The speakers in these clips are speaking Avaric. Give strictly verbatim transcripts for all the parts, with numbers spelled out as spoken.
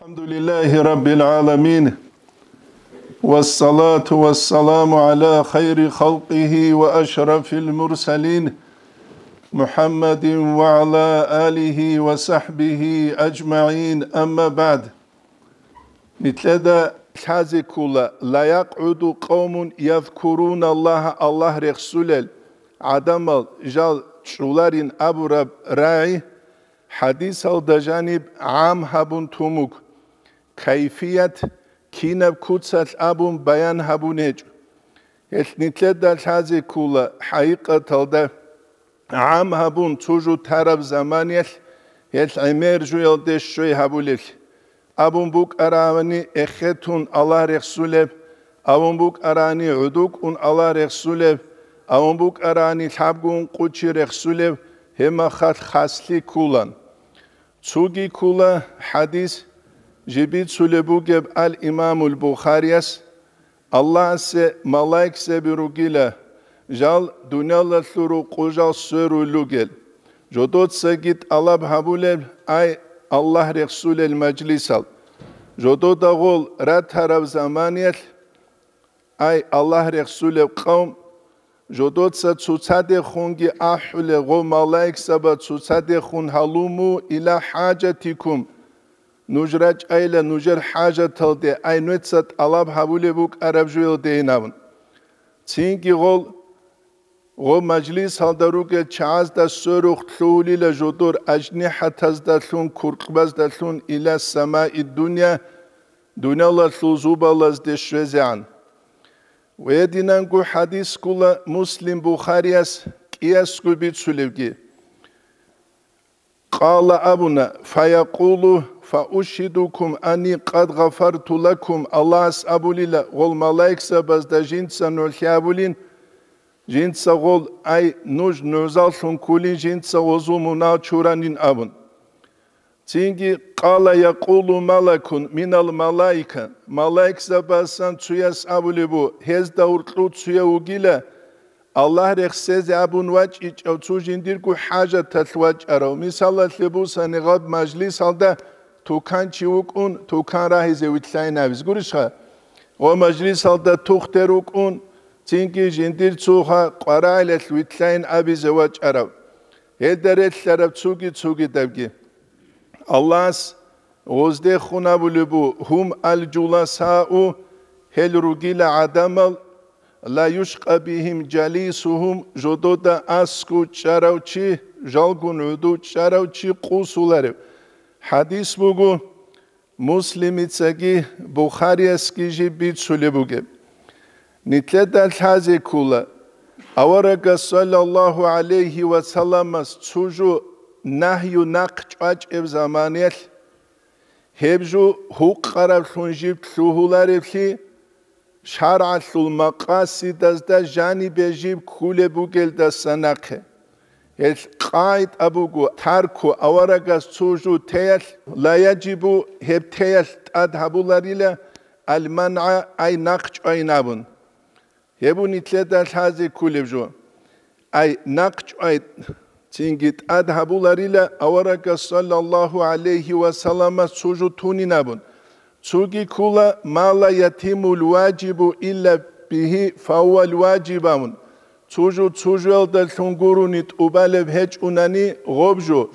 الحمد لله رب العالمين، والصلاة والسلام على خير خلقه وأشرف المرسلين، محمد وعلى آله وصحبه أجمعين، أما بعد. Нилъеда лъазе ккола: لا يقعد قوم يذكرون الله, Аллагь рехсулел гӀадамал жал чӀоларин абураб рагӀи, хӀадисалда жаниб гӀам гьабун тун буго, кайфият кинаб куцалъ абун баян гьабун гьечӀо. Гьелъ нилъеда лъазе ккола хӀакъикъаталда гӀам гьабун цо жо тараб заманиялъ гьелъ гӀемер жоялде щвей гьабулеблъи. Абун букӀарани эхетун Аллагь рехсулеб, абун букӀарани гӀодокӀун Аллагь рехсулеб, абун букӀарани лъабго ункъо чи рехсулеб, гьеб мехалъ хаслъи кколан. Цоги ккола хӀадис, жиб бицулеб бугеб ал-Имамул Бухарияс: Аллагьасе малаикзаби ругила, жал дуниялалъул рукъу жал сверулел ругел. Жодоцаги тӀалаб гьабулел, ай, Аллагь рехсулел мажлисал. Жодода гъол ратараб заманиялъ, ай, Аллагь рехсулеб къавм, жодоца цоцадехунги ахӀулел гъо малаикзаба цоцадехун: «Гьалумму иля хӀажатикум», нуж рачӀайла нужер хӀажаталде, ай, нуца тӀалаб гьабулеб букӀараб жоялдейин абун. Цинги гъол, гъо мажлисалда ругел чагӀазда сверухъ лъугьулила жодор ажнихӀатаздалъун, куркьбаздалъун, иля самаи дунья, дуниялалъул зубалазде щвезегӀан. Гьединанго хӀадис ккола Муслим Бухарияс кӀиясго бицулебги. Къала абуна: «Фаякъулу, фаушгьидукум анни къад гъафарту лакум», Аллагьас абулила гъол малаикзабазда жинца нугӀлъи абулин, жинца гъол, ай, нуж нугӀзаллъун ккулин, жинца гъозул мунагь чуранин абун. Цинги, къала якъулу малакун минал малаика, малаикзабасан цуяс абулеб бу, гьезда гьоркьов цуяв вугила, Аллагь рехсезе абун вачӀичӀав цо жиндирго хӀажаталъ вачӀарав. Мисалалъе бусани, гъаб мажлисалда туканчи вукӀун, тукан рагьизе вилълъайин абизе гурищха? Ва мажлисалда тухтер вукӀун, цинги жиндир цо ха къварагӀилалъ вилълъайин абизе вачӀарав. Гьелда релълъараб цуги-цугидабги. Аллагьас гъоздехун абулеб бу: «Гьум аль-жуласау», гьел ругила гӀадамал, «ла юшкъа бигьим жалисугьум», жодода аскӀов чӀарав чи, жалгун гӀодов чӀарав чи къосуларев. ХӀадис буго, Муслимицаги Бухариясги жиб бицулеб бугеб. Нилъеда лъазе ккола, аварагас, саллаллагьу гӀалайгьи ва салламас, цо жо нагью нахъ чӀвачӀеб заманиялъ, гьеб жо гьукъараблъун жиб лъугьулареблъи, шаргӀалъул макъасидазда жанибе жиб ккулеб бугелдаса нахъе. Гьелъ къагӀида буго: тарку аварагас цо жо теялъ, ла яжибу, гьеб теялъ тӀад гьабуларила, аль-мангӀа, ай, нахъ чӀвайин абун. Гьеб нилъеда лъазе ккулеб жо. Ай, нахъ чӀвай, цинги тӀад гьабуларила аварагас, саллаллагьу гӀалайгьи ва салламас, цо жо тунин абун. Цоги ккола: «Ма ла ятиммул важибу илля бигьи, фагьувал важиб», – абун. Цо жо цо жоялдалъун гурони тӀубалеб гьечӀунани гъоб жо,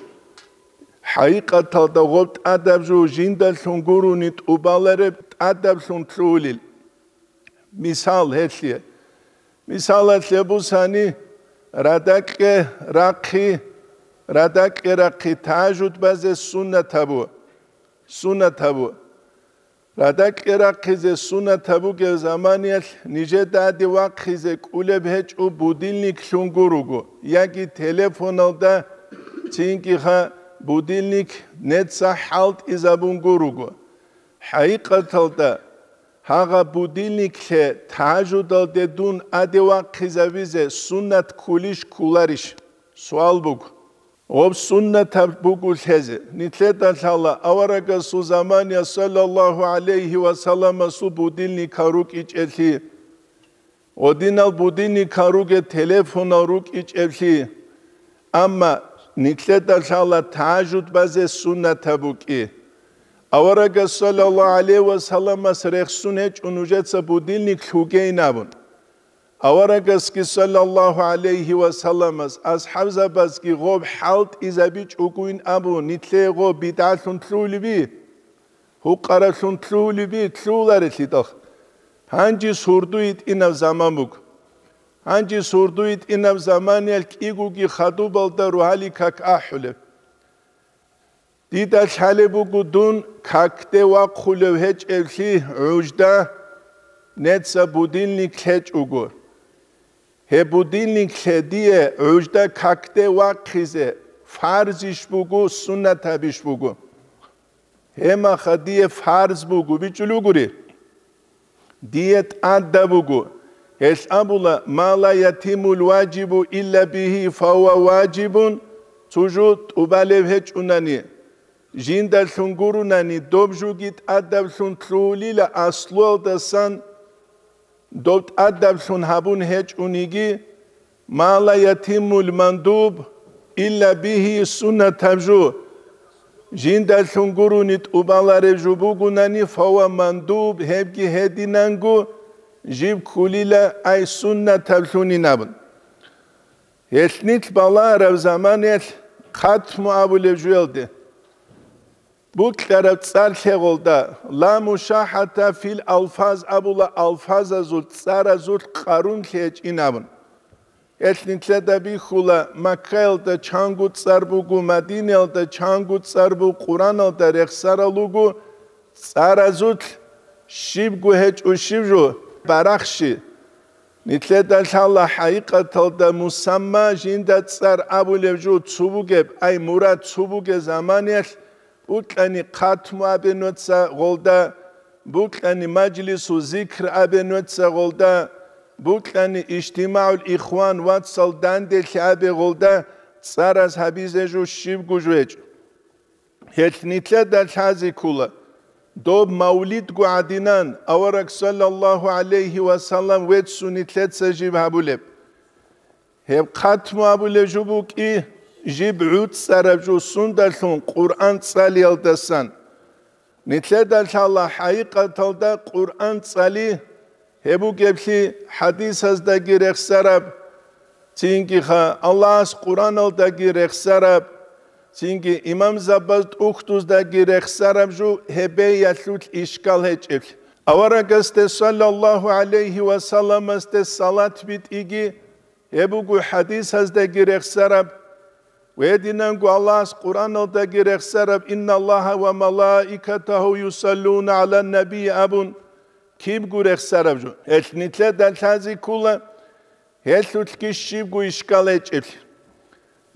хӀакъикъаталда гъоб тӀадаб жо жиндалъун гурони тӀубалареб тӀадаблъун лъугьулел. Мисал гьелъие. Мисалалъе бусани, радакье рахъи, радакье рахъи тажуд базе суннат гьабу. Суннат гьабу. Радакье рахъизе суннат гьабугев заманиялъ нижеда гьаде вахъизе кӀулеб гьечӀо будильниклъун гуруго, яги телефоналда цинги ха будильник неца хӀалтӀизабун гуруго. ХӀакъикъаталда, гьагъа будильниклъе тажудалде дун гьаде вахъизабизе суннат ккулищ ккуларищ? Суал буго. Гъоб суннатаб буго лъезе. Нилъеда лъала аварагасул замания саллаллагьу гӀалайгьи ва салламасул будильникал рукӀичӀелъи. Гъодинал будильникал руге телефонал рукӀичӀеблъи. Амма нилъеда лъала тажуд базе суннатаб букӀи. Аварагас саллаллагьу гӀалайгьи ва салламас рехсун гьечӀо нужеца будильник лъугейин абун. Аварагасги саллаллагьу гӀалайгьи ва салламас асхӀабзабазги гъоб хӀалтӀизабичӀогойин абун, нилъее гъоб бидгӀалъун лъугьулеби, гьукъараблъун лъугьулеби, лъугьуларелъидал. Гьанже сурду йитӀинаб заман буго. Гьанже сурду йитӀинаб заманиялъ кӀигоги хадубалда рогьалил как ахӀулеб. Дида лъалеб буго дун какде вахъулев гьечӀеблъи гӀужда, неца будильник лъечӀого. Гьеб будильник лъе дие гӀужда какде вахъизе фарзищ буго, суннатабищ буго? Гьемаха дие фарз буго, бичӀчӀулев гури. Дие тӀадаб буго. Гьелъ абула: «Ма ла ятиммул важибу илла бигьи, фагьува важибун», цо жо тӀубалеб гьечӀунани, жиндалъун гурунани, доб жоги тӀадаблъун лъугьулила аслуялдасан, доб тӀадаблъун гьабун гьечӀониги, «Ма ла ятиммул мандуб илла бигьи», суннатаб жо. Жиндалъун гурони тӀубалареб жо бугунани, «фагьува мандуб», гьебги гьединанго, жиб кколила, ай суннатаблъунин абун. Гьелъ нилъ балагьараб заманаялъ хъатму абулеб жоялде, букьараб цӀар лъегъолда, «ла мушахӀата фил алфаз» абула, алфазазул, цӀаразулъ къарун лъечӀин абун. Гьелъ нилъеда бихьула, Маккаялда чанго цӀар буго, Мадинаялда чанго цӀар буго, Къураналда рехсарал руго, цӀаразулъ щибго гьечӀо щиб жо, барахщи. Нилъеда лъала хӀакъикъаталда мусамма жинда цӀар абулеб жо цо бугеб, ай мурад цо бугеб заманаялъ букьани хъатму абе нуца гъолда, букьани мажлису зикр абе нуца гъолда, букьани ижтимагӀул ихван вацал данделъи абе гъолда, цӀараз гьабизе жо щибго жо гьечӀо. Гьелъ нилъеда лъазе ккола, доб мавлидго гӀадинан авараг саллаллагьу гӀалайгьи ва саллам веццун нилъеца жиб гьабулеб. Гьеб хъатму абулеб жо букӀи, жиб гӀуцӀараб жо сундалъун Къуръан цӀалиялдасан. Нилъеда лъала хӀакъикъаталда Къуръан цӀали, гьеб бугеблъи хӀадисаздаги рехсараб, цинги-ха Аллагьас Къуръаналдаги рехсараб, цинги имамзабаз тӀухьдуздаги рехсараб жо гьеб бегьиялъулъ ишкал гьечӀеблъи. Аварагасде саллаллагьу гӀалайгьи ва салламасде салат битӀиги, гьеб буго хӀадисаздаги рехсараб, гьединанго Аллагьас Къуръаналдаги рехсараб: «Инналлагьа ва малаикатагьу юсаллуна гӀалан наби» абун, кибго рехсараб жо. Гьелъ нилъеда лъазе ккола, гьелъулъги щибго ишкал гьечӀеблъи.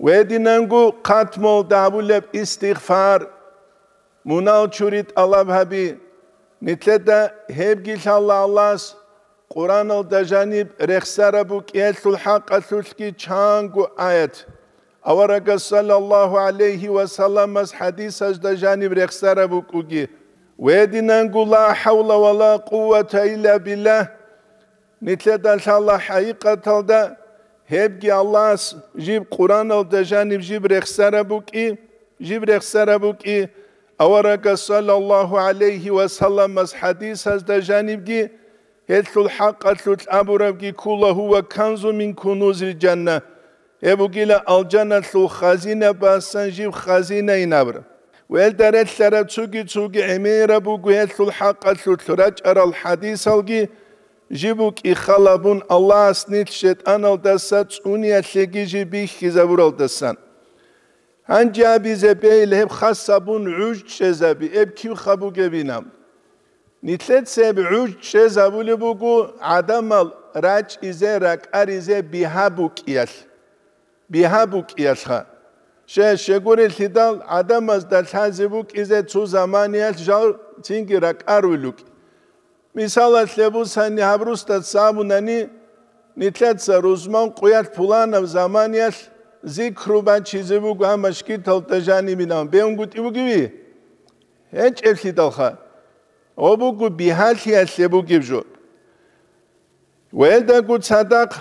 Гьединанго хъатмуялда гьабулеб истигъфар, мунагь чури тӀалаб гьаби. Нилъеда гьебги лъала Аллагьас Къуръаналда жаниб рехсараб букӀиялъул хӀакъалъулъги чанго аят, аварагас саллаллагьу гӀалайгьи ва салламас хӀадисазда жаниб рехсараб букӀуги. Гьединанго ла хӀавла ва ла къуввата илла биллагь. Нилъеда лъала хӀакъикъаталда гьебги Аллагьас жиб Къуръаналда жаниб жиб рехсараб букӀи, жиб рехсараб букӀи, аварагас саллаллагьу гӀалайгьи ва салламас хӀадисазда жанибги, гьелъул хӀакъалъулъ абурабги ккола: «Гьува канзу мин кунузил жанна», гьеб бугила алжаналъул хазинабасан жиб хазинайин абураб. Гьелда релълъараб цоги-цоги гӀемераб буго гьелъул хӀакъалъулъ рачӀарал хӀадисалги, жиб букӀи халабун Аллагьас нилъ шайтӀаналдаса цӀуниялъеги жиб бихьизабуралдасан. Гьанже абизе бегьил гьеб хас гьабун гӀуж чӀезаби, гьеб кибха бугебинаб? Нилъеца гьеб гӀуж чӀезабулеб буго гӀадамал рачӀизе, ракӀаризе бигьа букӀиялъ. Бигьа букӀиялъха. Щай, щегурелъидал гӀадамазда лъазе букӀизе цо заманиялъ жал цинги ракӀаруй рукӀи. Мисалалъе бусани, гьаб русдаца абунани, нилъеца рузман къуялъ пуланаб заманиялъ зикру бачизе буго, амма шкиталда жанибинан бегьунгутӀи бугеви? ГьечӀеблъидалха. Гьоб буго бигьалъиялъе бугеб жо. Гьелдаго цадахъ,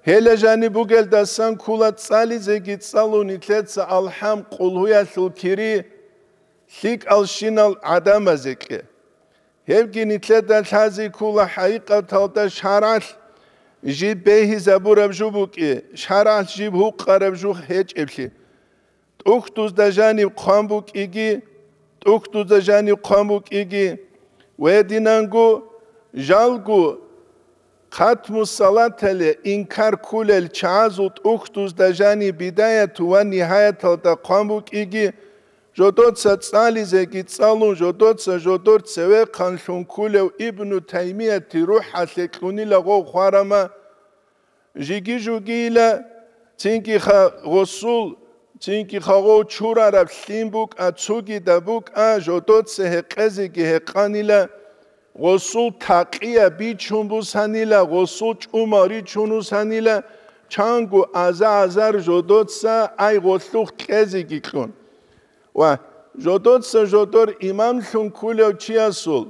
гьела жаниб бугелдасан ккола цӀализеги цӀалун нилъеца алхӀам къулгьуялъул кири, лъикӀалщинал гӀадамазе кье. Гьебги нилъеда лъази ккола хӀакъикъаталда шаргӀалъ жиб бегьизабураб жо букӀи, шаргӀалъ жиб гьукъараб жо гьечӀеблъи. ТӀухьдузда жаниб хъван букӀиги, тӀухьдузда жаниб хъван букӀиги, ва гьединанго жалго хатму салатале инкар кколел чагӀазул тӀухьдузда жаниб бидаят ва нигьаяталда хъван букӀиги, жодоца цӀализеги цӀалун, жодоца жодор цевехъанлъун кколев Ибну Таймияти рухӀалъе кьунила гъов хварама, жиги-жугийила, цинги-ха гъосул, цинги-ха гъов чурараб лъим букӀа, цугида букӀа, жодоца гьекъезеги гьекъанила, гъосул такъия бичун бусанила, гъосул чӀумал ричун русанила, чанго аза-азар жодоца ай гъолъухъ кьезеги кьун. Ва жодоца жодор имамлъун ккулев чиясул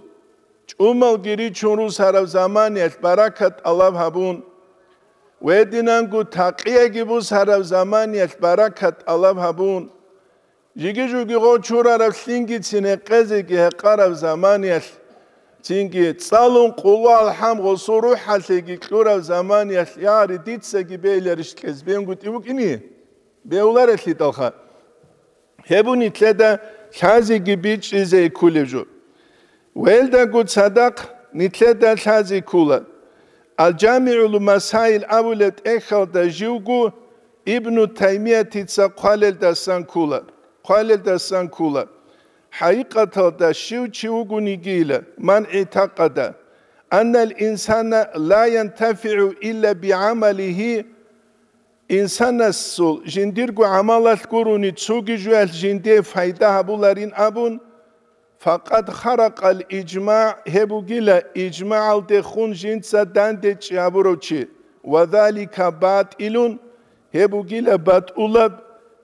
чӀумалги ричун русараб заманиялъ баракат тӀалаб гьабун, гьединанго такъияги бусараб заманиялъ баракат тӀалаб гьабун, жиги-жуги гъов чурараб лъимгицин гьекъезеги гьекъараб заманиялъ, цинги цӀалун къулгьу алхӀам гъосул рухӀалъеги кьураб заманиялъ, яри дицаги бейиларищ кьез бенгутӀи букӀине? Беуларелъидалха. Гьеб нилъеда лъазеги бичӀчӀизе кколеб жо. Велдаго цадахъ нилъеда лъазе ккола. Ал-ЖамигӀул Масаил абулеб тӀехьалда живго Ибну Таймиятица хъвалелдасан ккола, хъвалелдасан ккола. ХӀакъикъаталда щив чи вугонигийила, ман гӀитакъада, аннал инсана ла янтафигӀу илла бигӀамалигьи, инсанасул жиндирго гӀамалалъ гурони цоги жоялъ жиндие пайда гьабуларин абун, факъад харакъал ижмагӀ, гьеб бугила ижмагӀалдехун жинца дандечӀи гьабурав чи, ва залика батӀилун, гьеб бугила батӀулаб,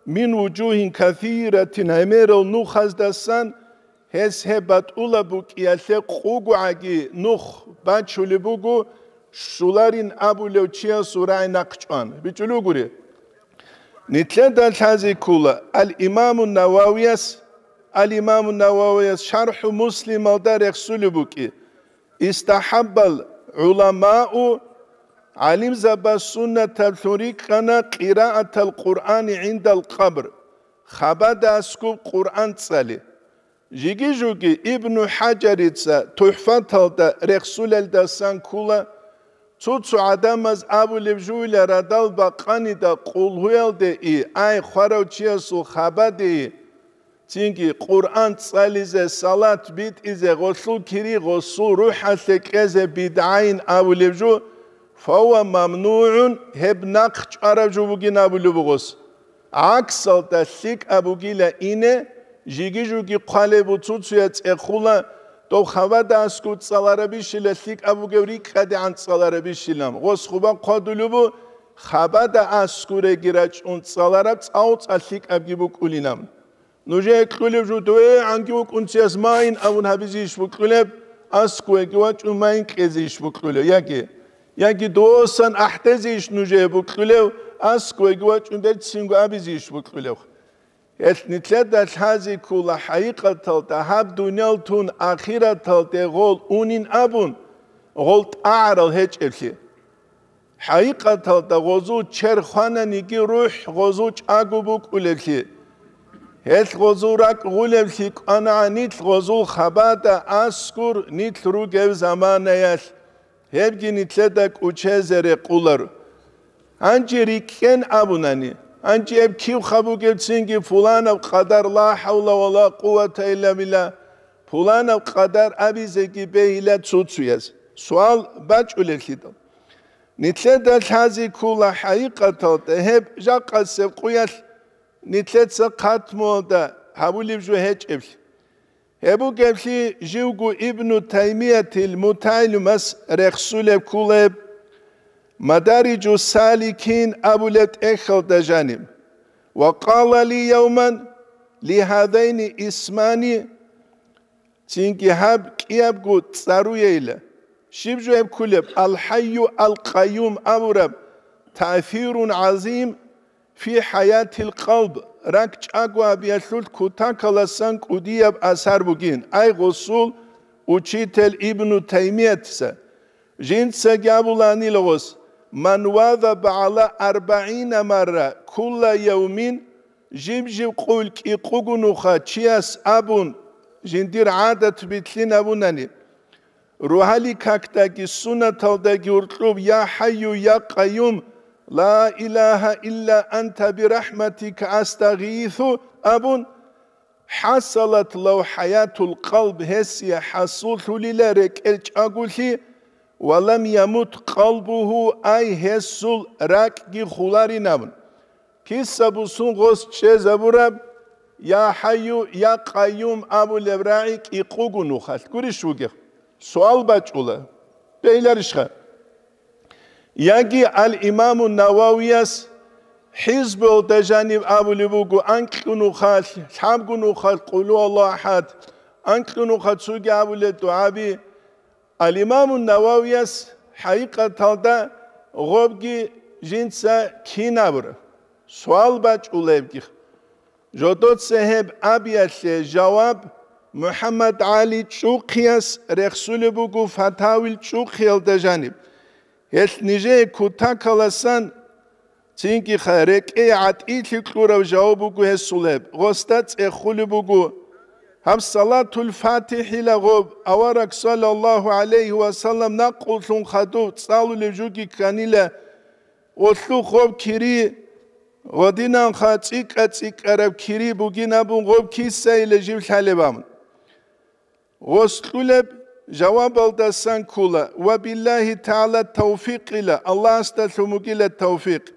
мин вужугьин касиратин, гӀемерал нухаздасан, гьес гьеб батӀулаб букӀиялъе къугугӀаги нух бачулеб буго, щуларин абулев чиясул рагӀи нахъчӀван. БичӀчӀулев гури. Нилъеда лъазе ккола, ал-Имаму Нававияс, ал-Имаму Нававияс ШархӀу Муслималда рехсулеб букӀи: «Истахаббал гӀуламау», гӀалимзабаз суннатаблъун рикӀкӀана къираатал Къуръани гӀиндал къабр, хабада аскуб Къуръан цӀали. Жиги-жуги Ибну ХӀажарица ТухӀфаталда рехсулелдасан ккола, цо-цо гӀадамаз абулеб жуйла радал бакъанида къулгьуялде и, ай хварав чиясул хабаде и, цинги Къуръан цӀализе, салат битӀизе, гъолъул кири гъосул рухӀалъе кьезе бидгӀайин абулеб жо, фавва мамнугӀун, гьеб нахъ чӀвараб жо бугин абулеб бугос. ГӀаксалда лъикӀаб бугила ине, жиги-жуги хъвалеб буцуцуя цӀехула, дов хабада аскӀов цӀаларабищила лъикӀаб бугев рикӀкӀадегӀан цӀаларабищилан, гъос хъуба хъвадулеб бу, хабада аскӀуреги рачӀун цӀалараб цӀалцӀа лъикӀабги букӀулинан. Нужее кьулеб жо дуе гӀанги вукӀунцияс майин абун гьабизейищ букьулеб, аскӀуеги вачӀун майин кьезейищ букьулев, яги, яги досан ахӀдезейищ нужее букьулев, аскӀуеги вачӀун берцинго абизейищ букьулев? Гьелъ нилъеда лъазе ккола хӀакъикъаталда гьаб дуниял тун ахираталде гъол унин абун, гъол тӀагӀарал гьечӀеблъи. ХӀакъикъаталда гъозул чер хвананиги рухӀ гъозул чӀаго букӀулеблъи. Гьелъ гъозул ракӀ гъулеблъи кӀванагӀа нилъ гъозул хабада аскӀур нилъ ругев заманаялъ. Гьебги нилъеда кӀучезе рекъулар. Гьанже рикӀкӀен абунани, гьанже гьеб кив хабугебцинги пуланаб къадар ла хӀавла ва ла къуввата илла билла, пуланаб къадар абизеги бегьила цуцуяз. Суал бачӀулеблъидал. Нилъеда лъази ккола хӀакъикъаталда гьеб жакъасеб къуялъ нилъеца хъатмуялда гьабулеб жо гьечӀеблъи. Гьеб бугеблъи живго Ибну Таймиятил Муталимас рехсулеб кколеб, Мадариджу Саликин абулеб тӀехьалда жаниб: «Ва къала ли явман ли гьадайни исмани», цинги гьаб кӀиябго цӀаруейила. Щиб жо гьеб кколеб? Ал-ХӀайю ал-Къайюм абураб таъсирун гӀазим, фи хӀаятил къалб, ракӀ чӀаго гьабиялъулъ кутакаласан кӀудияб асар бугин, ай гъосул учитель Ибну Таймиятиса. Жинцаги абуланила гъос: «Ман вазаба гӀала арбагӀина марра кулла явмин», жиб-жиб къуйл кӀикъуго нуха чияс абун, жиндир гӀадат битлъин абунани, рогьалил какдаги суннаталдаги гьуркьуб: «Я ХӀайю, я Къайюм, ла илагьа илла анта бирахӀматика астагъийису», абун, хӀасалат лав хӀаятул къалб, гьесие хӀасуллъулила рекӀел чӀагулъи, ва лам ямут къалбугьу, ай гьесул ракӀги хуларин абун. Киса бусун гъос чӀезабураб, «Я ХӀайю, я Къайюм» абулеб рагӀи кӀикъуго нухалъ гурищ вугев? Суал бачӀула. Бегьиларищха? Яги ал-Имаму Нававияс ХӀизбуялда жаниб абулеб буго, анкьго нухалъ, лъабго нухалъ Къулгьу Аллагьу ахӀад, анкьго нухалъ цоги абулеб дугӀаби. Ал-Имаму Нававияс хӀакъикъаталда гъобги жинца кин абура? Суал бачӀулебги. Жодоца гьеб абиялъе жаваб МухӀаммад ГӀали ЧӀухъияс рехсулеб буго Фатавил ЧӀухъиялда жаниб. Гьелъ нижее кутакаласан цинги ха-, рекӀее гӀатӀилъи кьурав жаваб буго гьесул гьеб. Гъосда цӀехулеб буго: гьаб Салатул ФатихӀила гъоб, авараг саллаллагьу гӀалайгьи ва саллам накъуллъун хадув цӀалулев жуги кканила, гъолъухъ гъоб кири, гъодинанха цӀикӀкӀа-цӀикӀкӀараб кири бугин абун гъоб кисайила жив лъалеб абун. Гъос кьулеб жавабалдасан ккола: «Ва биллагьи тагӀала тавфикъила», Аллагьасдалъун бугила тавфикъ.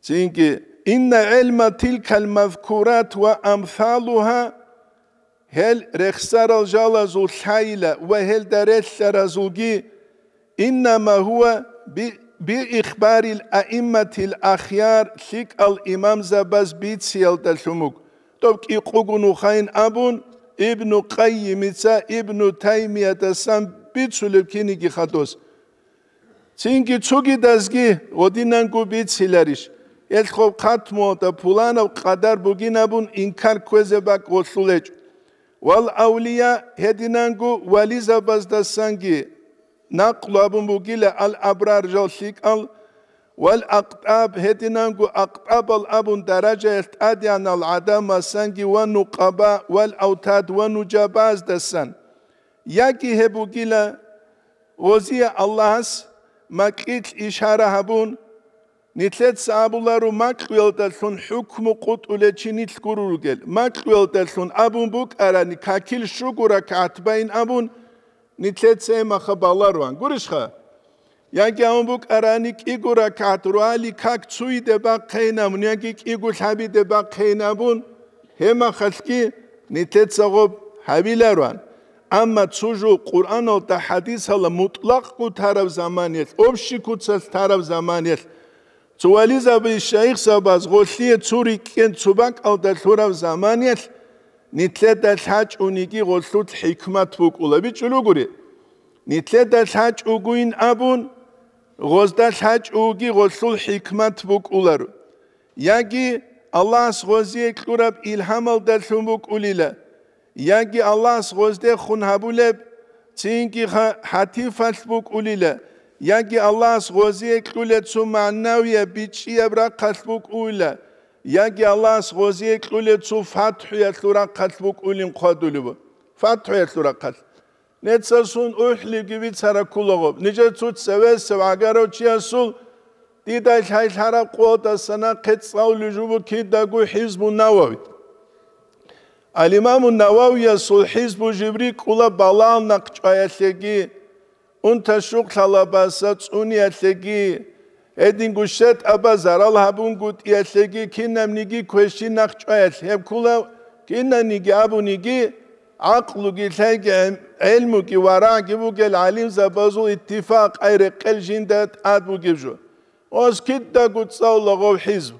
Цинги: «Инна гӀилма тилкал мазкурат ва амсалугьа», гьел рехсарал жалазул лъайила ва гьелда релълъаразулги, «Иннама гьува би-, би ихбарил аимматил ахяр», лъикӀал имамзабаз бициялдалъун буго. Доб кӀикъуго нухайин абун, Ибну Къаййимица Ибну Таймиятасан бицулеб киниги хадос. Цинги цогидазги гъодинанго бициларищ? Гьелъ хоб хатмуялда пуланаб къадар бугин абун инкар кквезе бакӀ гъолъул гьечӀо. Вал авлия, гьединанго вализабаздасанги накълу абун бугила ал-абрар жал лъикӀал, вал акътӀаб, гьединанго акътӀабал абун даражаялъ тӀадегӀанал гӀадамасанги ва нукъаба, вал автад ва нужабаздасан. Яги гьеб бугила, гъозие Аллагьас макьилъ ишара гьабун, нилъеца абуларо макьуялдалъун хӀукму къутӀулев чи нилъ гуро ругел. Макьуялдалъун абун букӀарани, какил щуго ракагӀат баин абун, нилъеца гьемаха баларуан. Гурищха? Яги абун букӀарани, кӀиго ракагӀат руали как цуйде бахъейин абун, яги кӀиго лъабиде бахъейин абун, гьемахалъги нилъеца гъоб гьабиларуан. Амма цо жо Къуръаналда, хӀадисалда мутӀлакъго тараб заманиялъ, общий куцалъ тараб заманиялъ, цо вализаби шайихзабаз гъолъие цо рикӀкӀен цо бакӀалда лъураб заманиялъ, нилъеда лъачӀуниги гъолъул хӀикмат букӀула. БичӀчӀулугури, нилъеда лъачӀугуин абун, гъозда лъачӀуги гъолъул хӀикмат букӀуларо. Яги Аллагьас гъозие кьураб илгьамалдалъун букӀулила, яги Аллагьас гъоздехун гьабулеб цинги ха-, хӀатифалъ букӀулила, яги Аллагьас гъозие кьулеб цо магӀнавияб бичӀчӀияб рахъалъ букӀулила, яги Аллагьас гъозие кьулеб цо фатхӀуялъул рахъалъ букӀулин хъвадулеб. ФатхӀуялъул рахъалъ. Нецасун ухӀлиги бицара кколаго. Нижер цо цевесев гӀагарав чиясул дида лъайлъараб къоялдаса нахъе цӀалулел жубу кидаго ХӀизбу Навави. Ал-Имаму Нававиясул ХӀизбу жиб рикӀкӀула балагьал нахъчӀваялъеги, унта-щукълъалабаса цӀуниялъеги, гьединго щетӀаба зарал гьабунгутӀиялъеги, кинабниги квешин нахъчӀваялъ гьеб ккула, кинаниги абуниги, гӀакълуги лъайги гӀем-, гӀелмуги варагӀги бугел гӀалимзабазул иттифакъ ай рекъел жинда тӀад бугеб жо. Ос кидаго цӀалула гъов ХӀизб.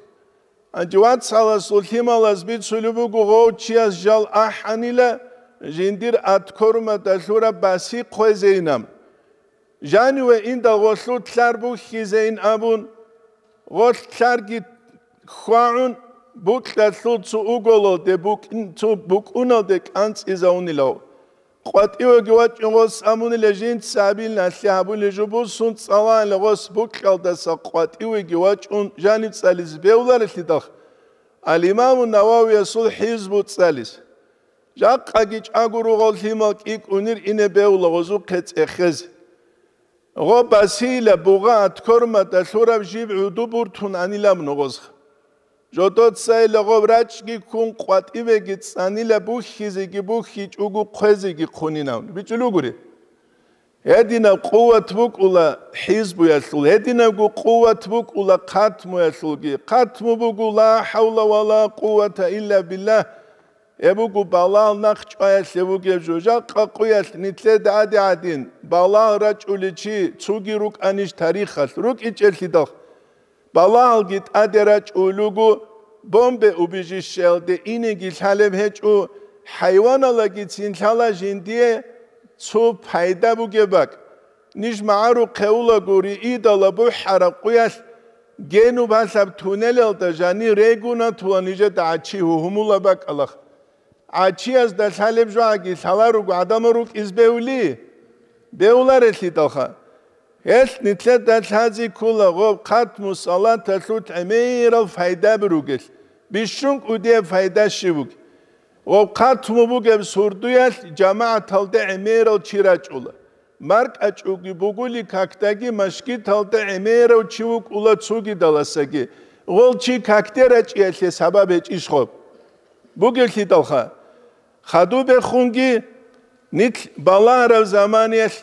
Гьанже вацаласул лъималаз бицулеб буго, гъов чияс жал ахӀанила, жиндир аткормада лъураб баси хъвезейинан. Жаниве индал гъолъул лъар бухьизейин абун, гъолъ лъарги хьвагӀун, букьалъул цо уголалде букӀин-, цо букӀуналде кӀанцӀизавунилав. КъватӀивеги вачӀун гъос абунила жинца абилналъе гьабулел жо бусун цӀалаанила гъос букьалдаса къватӀивеги вачӀун жанив цӀализе бевларелъидал, Ал-Имаму Нававиясул хӀизбу цӀализе. Жакъаги чӀаго ругъал лъимал кӀикӀунир ине бевла гъозухъе цӀехезе. Гъо басила бугъа аткормада лъураб жиб гӀуду буртун анилаб ногъозха. Жодоцайила гъоб рачӀги ккун къватӀивеги цӀанила бухьизеги бухьичӀого хъвезеги хъунинавун. БичӀулугури. Гьединаб къуват букӀула хӀизбуялъул, гьединабго къуват букӀула хъатмуялъулги. Хъатму буго ла хӀавла ва ла къуввата илла биллагь. Гьеб буго балагьал нахъ чӀваялъе бугеб жо. Жакъа къуялъ нилъеда гӀади гӀадин, балагь рачӀулев чи цоги рукӀанищ тарихалъ? РукӀичӀелъидал. Балагьалги тӀаде рачӀулел руго, бомбе убежищеялде инеги лъалеб гьечӀо, хӀайваналагицин лъала жиндие цо пайда бугеб бакӀ. Ниж магӀарухъе улаго риидала бухӀараб къуялъ, генуб гьалъаб туннелалда жанир регунатула нижеда гӀачи гьугьумула бакӀалах. ГӀачиязда лъалеб жогӀаги лъаларуго гӀадамал рукӀиз бевли? Бевларелъидалха. Гьелъ нилъеда лъази ккола гъоб хъатму салаталъул гӀемерал пайдаби ругелъ, бищун кӀудияб пайда щиб бугеб? Гъоб хъатму бугеб сурдуялъ жамагӀаталде гӀемерал чи рачӀула. МаркӀачӀуги бугули какдаги машгиталда гӀемерав чи вукӀула цогидаласаги, гъол чи какде рачӀиялъе сабаб гьечӀищ гъоб? Бугелъидалха, хадубехунги нилъ балагьараб заманиялъ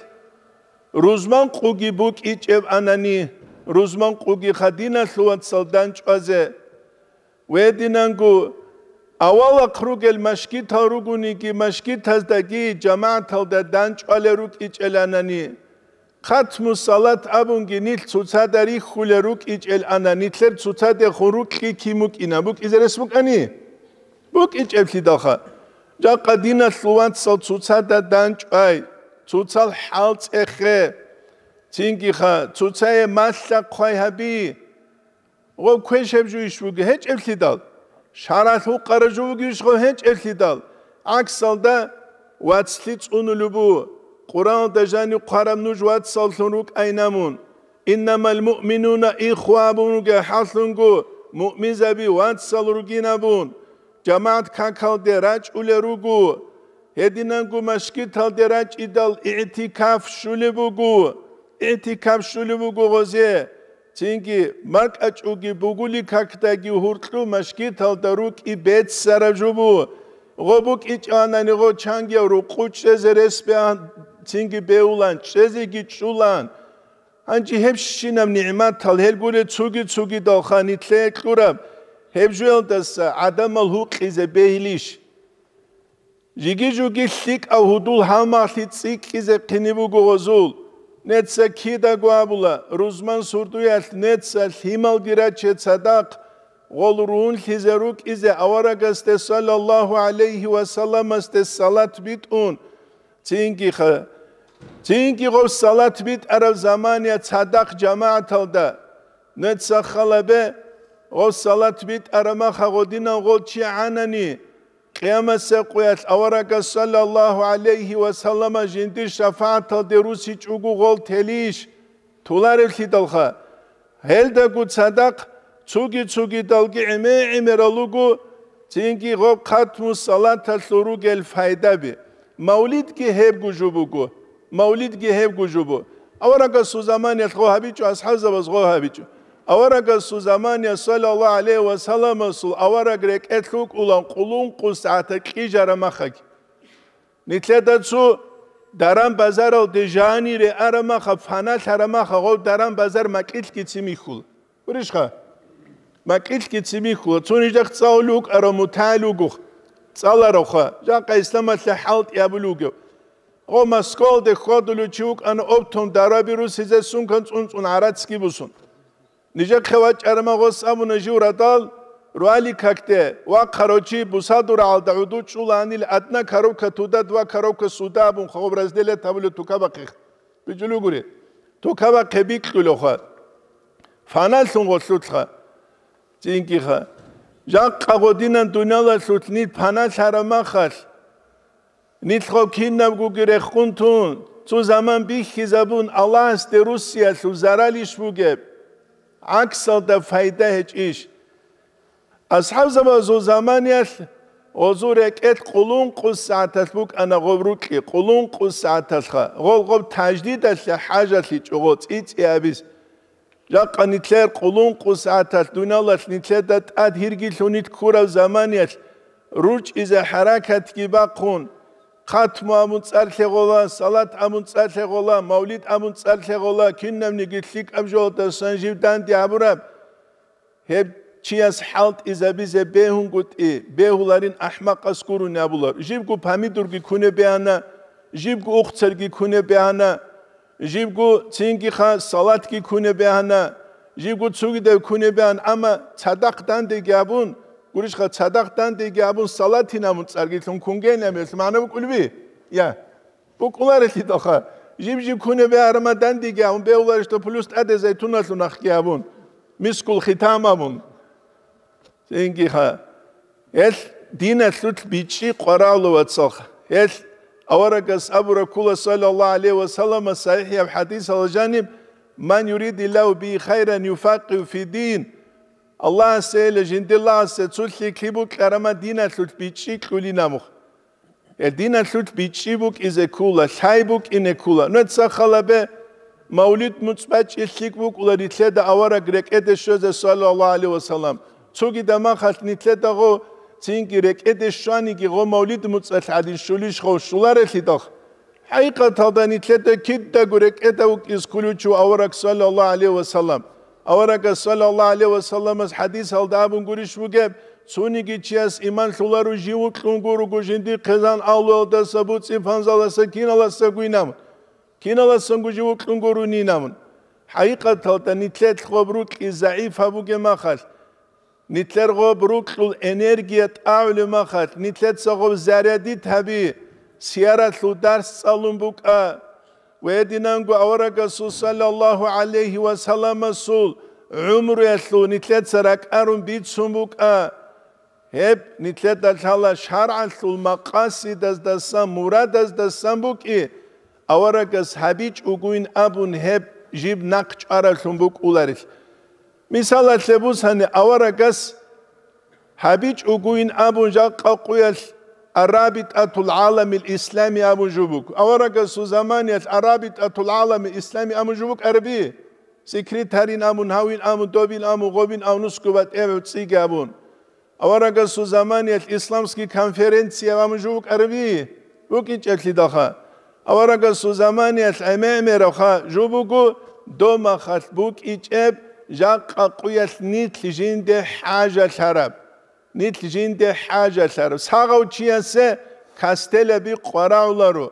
рузман къуги букӀичӀеб анани, рузман къуги хадиналъул вацал данчӀвазе, гьединанго авалахъ ругел машгитал ругониги, машгитаздаги жамагӀаталда данчӀвалел рукӀичӀеланани, хъатму салат абунги нилъ цоцазда рихьулел рукӀичӀелана, нилъер цоцадехун рукьи кин букӀина, букӀизе рес букӀани? БукӀичӀеблъидалха, жакъа диналъул вацал цоцада данчӀвай, цоцал хӀал цӀехе, цинги-ха, цоцае малъа-хъвай гьаби. Гъоб квешаб жуйищ буго гьечӀеблъидал? Шаралъ гьукъараб жо бугищ гъоб гьечӀеблъидал? ГӀаксалда, вацлъи цӀунулеб бу, Къуръаналда жанив хъвараб нуж вацаллъун рукӀайнамун. «Иннамал муъминуна ихва» абун ругел хӀаллъунго, муъминзаби вацал ругинабун, жамагӀат какалде рачӀулел руго. Гьединанго машгиталде рачӀидал игӀтикаф щулеб буго, игӀтикаф щулеб буго гъозе. Цинги маркӀачӀуги бугули какдаги гьуркьу машгиталда рукӀи беццараб жо бу. Гъо букӀичӀанани гъо чангияв рукъу чӀезе рес бегьан, цинги бевулан, чӀезеги чӀулан. Гьанже гьебщинаб нигӀматал гьел гуре цуги-цугидалха нилъее кьураб, гьеб жоялдаса гӀадамал гьукъизе бегьилищ? Жиги-жуги лъикӀав гьудул гьалмагълъи цӀикӀкӀизе хъине буго гъозул. Неца кидаго абула, рузман сурдуялъ неца лъималги раче цадахъ, гъол рунлъизе рукӀизе аварагасде саллаллагьу гӀалайгьи ва салламасде салат битӀун. Цинги-ха, цинги гъов салат битӀараб замания цадахъ жамагӀаталда. Неца халабе, гъов салат битӀараб маха гъодинав гъол чи гӀанани, Къиямасеб къуялъ аварагас саллаллагьу гӀалайгьи ва саллама жиндир шафагӀаталде русичӀого гъол телищ? Толаревлъидалха. Гьелдаго цадахъ цуги-цугидалги гӀеме-гӀемерал руго, цинги гъоб хъатму салаталъул ругел файдаби. Мавлидги гьебго жо буго. Мавлидги гьебго жо бу. Аварагасул заманиялъ гъо гьабичӀо, асхӀабзабаз гъо гьабичӀо. Аварагасул замания саллаллагьу гӀалайгьи ва салламасул авараг рекӀелъ вукӀулан къулункъу сагӀата кьижара махаги. Нилъеда цо даран-базаралде жанире арамаха, фаналъарамаха, гъов даран-базар макьилъги цимихьула. Гурищха? Макьилъги цимихьула. Цо нижехъ цӀалулев вукӀарав мутагӀил вугох. ЦӀаларавха. Жакъа исламалъе хӀалтӀи абулев вугев. Гъо Москвалде хьвадулев чи вукӀана оптом дараби русизе сумкан цӀун-цӀун гӀарацги бусун. Нижехъе вачӀарама гъос абуна жив радал, руали какде, вахъарав чи бусадур гӀалда гӀуду чӀуланил адна коробка туда, два коробка суда абун хаб разделят гьабулев тукабахъе. БичӀулугури, тукабахъе бикьулевха. Фаналъун гъолъулъха. Цинги-ха, жакъа гъодинан дуниялалъулъ нилъ паналъараб махалъ, нилъго кинабгоги рехун тун, цо заман бихьизабун, Аллагьасде руссиялъул заралищ бугеб? ГӀаксалда пайда гьечӀищ? АсхӀабзабазул заманиялъ гъозул рекӀелъ къулункъус сагӀаталъ букӀана гъоб рукьи, къулункъус сагӀаталъха, гъол гъоб таждидалъе хӀажалъичӀо гъо цӀи-цӀи абиз. Жакъа нилъер къулункъус сагӀаталъ дуниялалъ нилъеда тӀад гьиргилъун нилъ ккураб заманиялъ ручӀизе хӀаракатги бахъун, хатму абун цӀар лъегъола, салат абун цӀар лъегъола, мавлид абун цӀар лъегъола, кинабниги лъикӀаб жоялдасан жив данде гьабураб. Гьеб чияс хӀалтӀизабизе бегьунгутӀи, бегьуларин ахӀмакъас гурони абулар. Жибго помидорги кунеб бегьана, жибго ухцарги кунеб бегьана, жибго цинги-ха салатги кунеб бегьана, жибго цогидаб кунеб бегьана, амма цадахъ дандеги абун, гурищха, цадахъ дандеги абун салатин абун цӀарги лъун кунгейин аб гьелъ магӀна букӀулеби? Я. БукӀуларелъидалха, жиб-жиб кунеб бегьарама дандеги абун, бегьуларищ дов плюс тӀаде зайтуналъул нахъги абун, мискул хитам абун. Цинги-ха, гьелъ диналъулъ бичӀчӀи къварагӀула, вацалха. Гьелъ аварагас абураб ккола, саллаллагьу гӀалайгьи ва саллама, сахӀихӀияб хӀадисалда жаниб: «Ман юридиллагьу бигьи хайран юфаккигьу фиддин». Аллагьасейила жиндир лагъасе цо лъикӀлъи букьарама диналъулъ бичӀчӀи кьулин абун. Гьел диналъулъ бичӀчӀи букӀизе ккола, лъай букӀине ккола. Нужеца халабе, мавлид муцӀ бачӀи лъикӀ букӀула нилъеда авараг рекӀеде щвезе, саллаллагьу гӀалайгьи ва саллам. Цогидаб махалъ нилъеда гъо цинги рекӀеде щваниги гъо мавлид муцӀалъ гӀадин щулищ гъо щуларелъидал. ХӀакъикъаталда нилъеда кидаго рекӀеда вукӀиз кколев чи вуго авараг, саллаллагьу гӀалайгьи ва саллам. Аварагас, саллаллагьу гӀалайгьи ва салламас хӀадисалда абун гурищ бугеб: «Цониги чияс иман лъоларо жив вокьун гурого жиндихъе зан агьлуялдаса, буцӀи-панзаласа, киналасагойин абун. Киналасанго жив вокьун гуронин абун». ХӀакъикъаталда нилъер гъоб рукьи загӀип гьабуге махалъ, нилъер гъоб рукьул энергия тӀагӀулеб махалъ, нилъеца гъоб зарядит гьаби, сияралъул дарс цӀалун букӀа. Ва гьединанго аварагасул, саллаллагьу гӀалайгьи ва салламасул, гӀумруялъул нилъеца ракӀарун бицун букӀа. Гьеб нилъеда лъала шаргӀалъул макъасидаздасан, мурадаздасан букӀи, аварагас гьабичӀогойин абун гьеб жиб нахъ чӀваравлъун букӀуларел. Мисалалъе бусани, аварагас гьабичӀогойин абун жакъа къуялъ Арабитатул гӀаламил ислами абун жо буго. Аварагасул заманиялъ Арабитатул гӀаламил ислами абун жо букӀараби? Секретарин абун, гьавин абун, добин абун, гъобин абун, нусго батӀияб цӀиги абун. Аварагасул заманиялъ исламский конференция абун жо букӀараби? БукӀинчӀеблъидалха. Аварагасул заманиялъ гӀемер-гӀемеравха жо буго, доб махалъ букӀичӀеб, жакъа къуялъ нилъ жинде хӀажалъараб. Нилъ жинде хӀажалъараб. Сагъав чиясе кастелаби къварагӀуларо,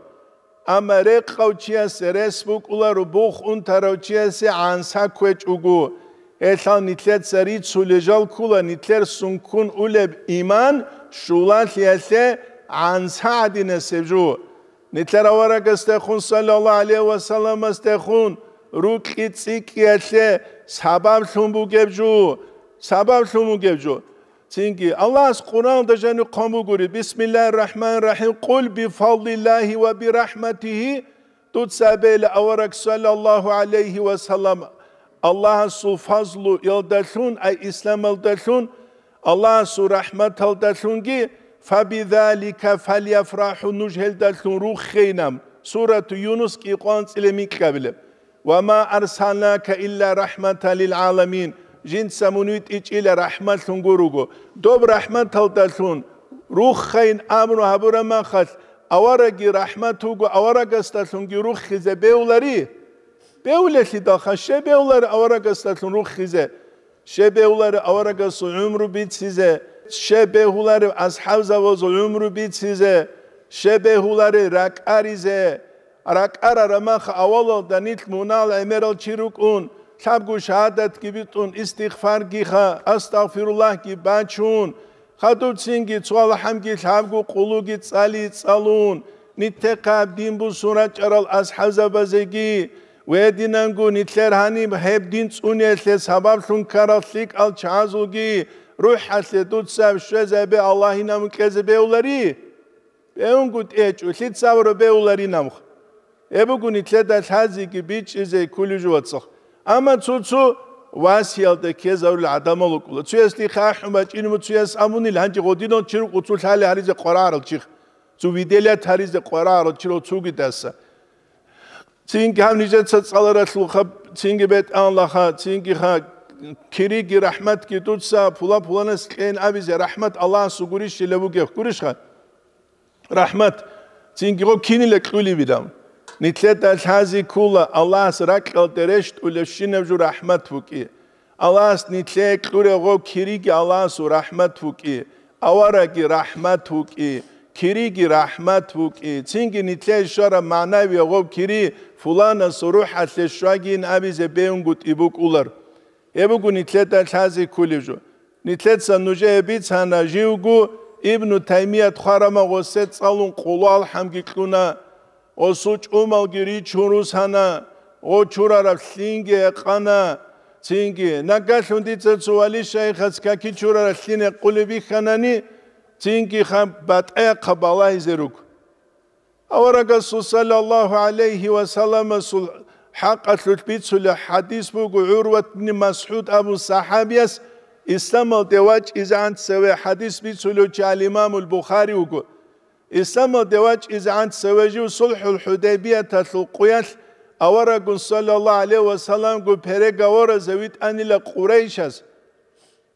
амма рекъав чиясе рес букӀуларо, бух унтарав чиясе гӀанса кквечӀого. Гьелъал нилъеца рицулел жал ккула нилъер сунккун улеб иман щулалъиялъе гӀанса гӀадинасеб жо. Нилъер аварагасдехун, саллаллагьу гӀалайгьи ва салламасдехун, рукьи цӀикӀкӀиялъе сабаблъун бугеб жо, сабаблъун бугеб жо. Цинги Аллагьас Къуръаналда жаниб хъван бугури: «Бисмиллагьир рахӀманир рахӀим, къул бифадлиллагьи ва бирахӀматигьи», дуца абейла авараг, саллаллагьу гӀалайгьи ва саллам, Аллагьасул фазлуялдалъун, ай исламалдалъун, Аллагьасул рахӀматалдалъунги, «фабизалика фальяфрахӀу», нуж гьелдалъун руххейин абун. Сурату Юнус кӀикъоялда анцӀила микьабилеб. «Ва ма арсалнака илла рахӀматан лил гӀаламин», жинца мун витӀичӀила рахӀматлъун гуруго. Доб рахӀматалдалъун руххейин абун гьабураб махалъ, аварагги рахӀмат вуго, аварагасдалъунги руххизе бегьулари? Бегьулелъидалха, щай бегьулари аварагасдалъун руххизе? Щай бегьулари аварагасул гӀумру бицизе? Щай бегьулари асхӀабзабазул гӀумру бицизе? Щай бегьулари ракӀаризе? РакӀарараб мах авалалда нилъ мунагьал гӀемерал чи рукӀун, лъабго шагьадатги битӀун, истигъфаргиха, астагъфируллагьги бачун, хадубцинги цо алхӀамги лъабго къулуги цӀали цӀалун, нилъехъаб дин бусун рачӀарал асхӀабзабазеги, Гьединанго нилъер гьаниб гьеб дин цӀуниялъе сабаблъун ккарал лъикӀал чагӀазулги рухӀалъе дуца щвезабе Аллагьин амру кьезе бегьулари? БегьунгутӀи гьечӀо, лъица абураб бегьуларинабха. Гьеб буго нилъеда лъазеги бичӀчӀизе кколеб жо, вацал. Амма цо-цо васиялда ккезарулел гӀадамал рукӀуна. Цояс дихъе ахӀун бачӀинабу, цояс абунил, гьанже гъодинал чи рукӀуна цо лъалеб гьаризе къваригӀарал чи, цо виделият гьаризе къваригӀарал чи цогидаса. Цинги гьаб нижеца цӀаларалъулха, цинги бетӀанлаха, цинги ха, кириги рахӀматги дуца пула-пуланас кьейин абизе рахӀмат Аллагьасул гурищила бугеб, гурищха? РахӀмат, цинги гъо кинила кьулебилан. Нилъеда лъази ккула Аллагьас ракьалде рещтӀулебщинаб жо рахӀмат букӀи. Аллагьас нилъее кьуреб гъо кириги Аллагьасул рахӀмат букӀи, аварагги рахӀмат букӀи, кириги рахӀмат букӀи, цинги нилъее щвараб магӀнавияб гъо кири фуланасул рухӀалъе щвагийин абизе бегьунгутӀи букӀулар. Гьеб буго нилъеда лъази кколеб жо. Нилъеца нужее бицана, живго Ибну Таймият хварамав гъосе цӀалун къулу-алхӀамги кьуна, гъосул чӀумалги ричун русана, гъо чурараб лъинги гьекъана. Цинги, нагагьлъун дица цо вали-шайихас каки чурараб лъин гьекъулеб бихьанани, цинги ха батӀа-яхъа балагьизе руго. Аварагасул саллаллагьу гӀалайгьи ва салламасул хӀакъалъулъ бицулеб хӀадис буго, ГӀурват ибн МасгӀуд абун сахӀабияс, исламалде вачӀизегӀан цеве хӀадис бицулев чи ал-Имамул Бухари вуго. Исламалде вачӀизегӀан цеве жив СулхӀул ХӀудайбияталъул къуялъ аварагун саллаллагьу гӀалайгьи ва салламгун переговоразе витӀанила Къурайшас.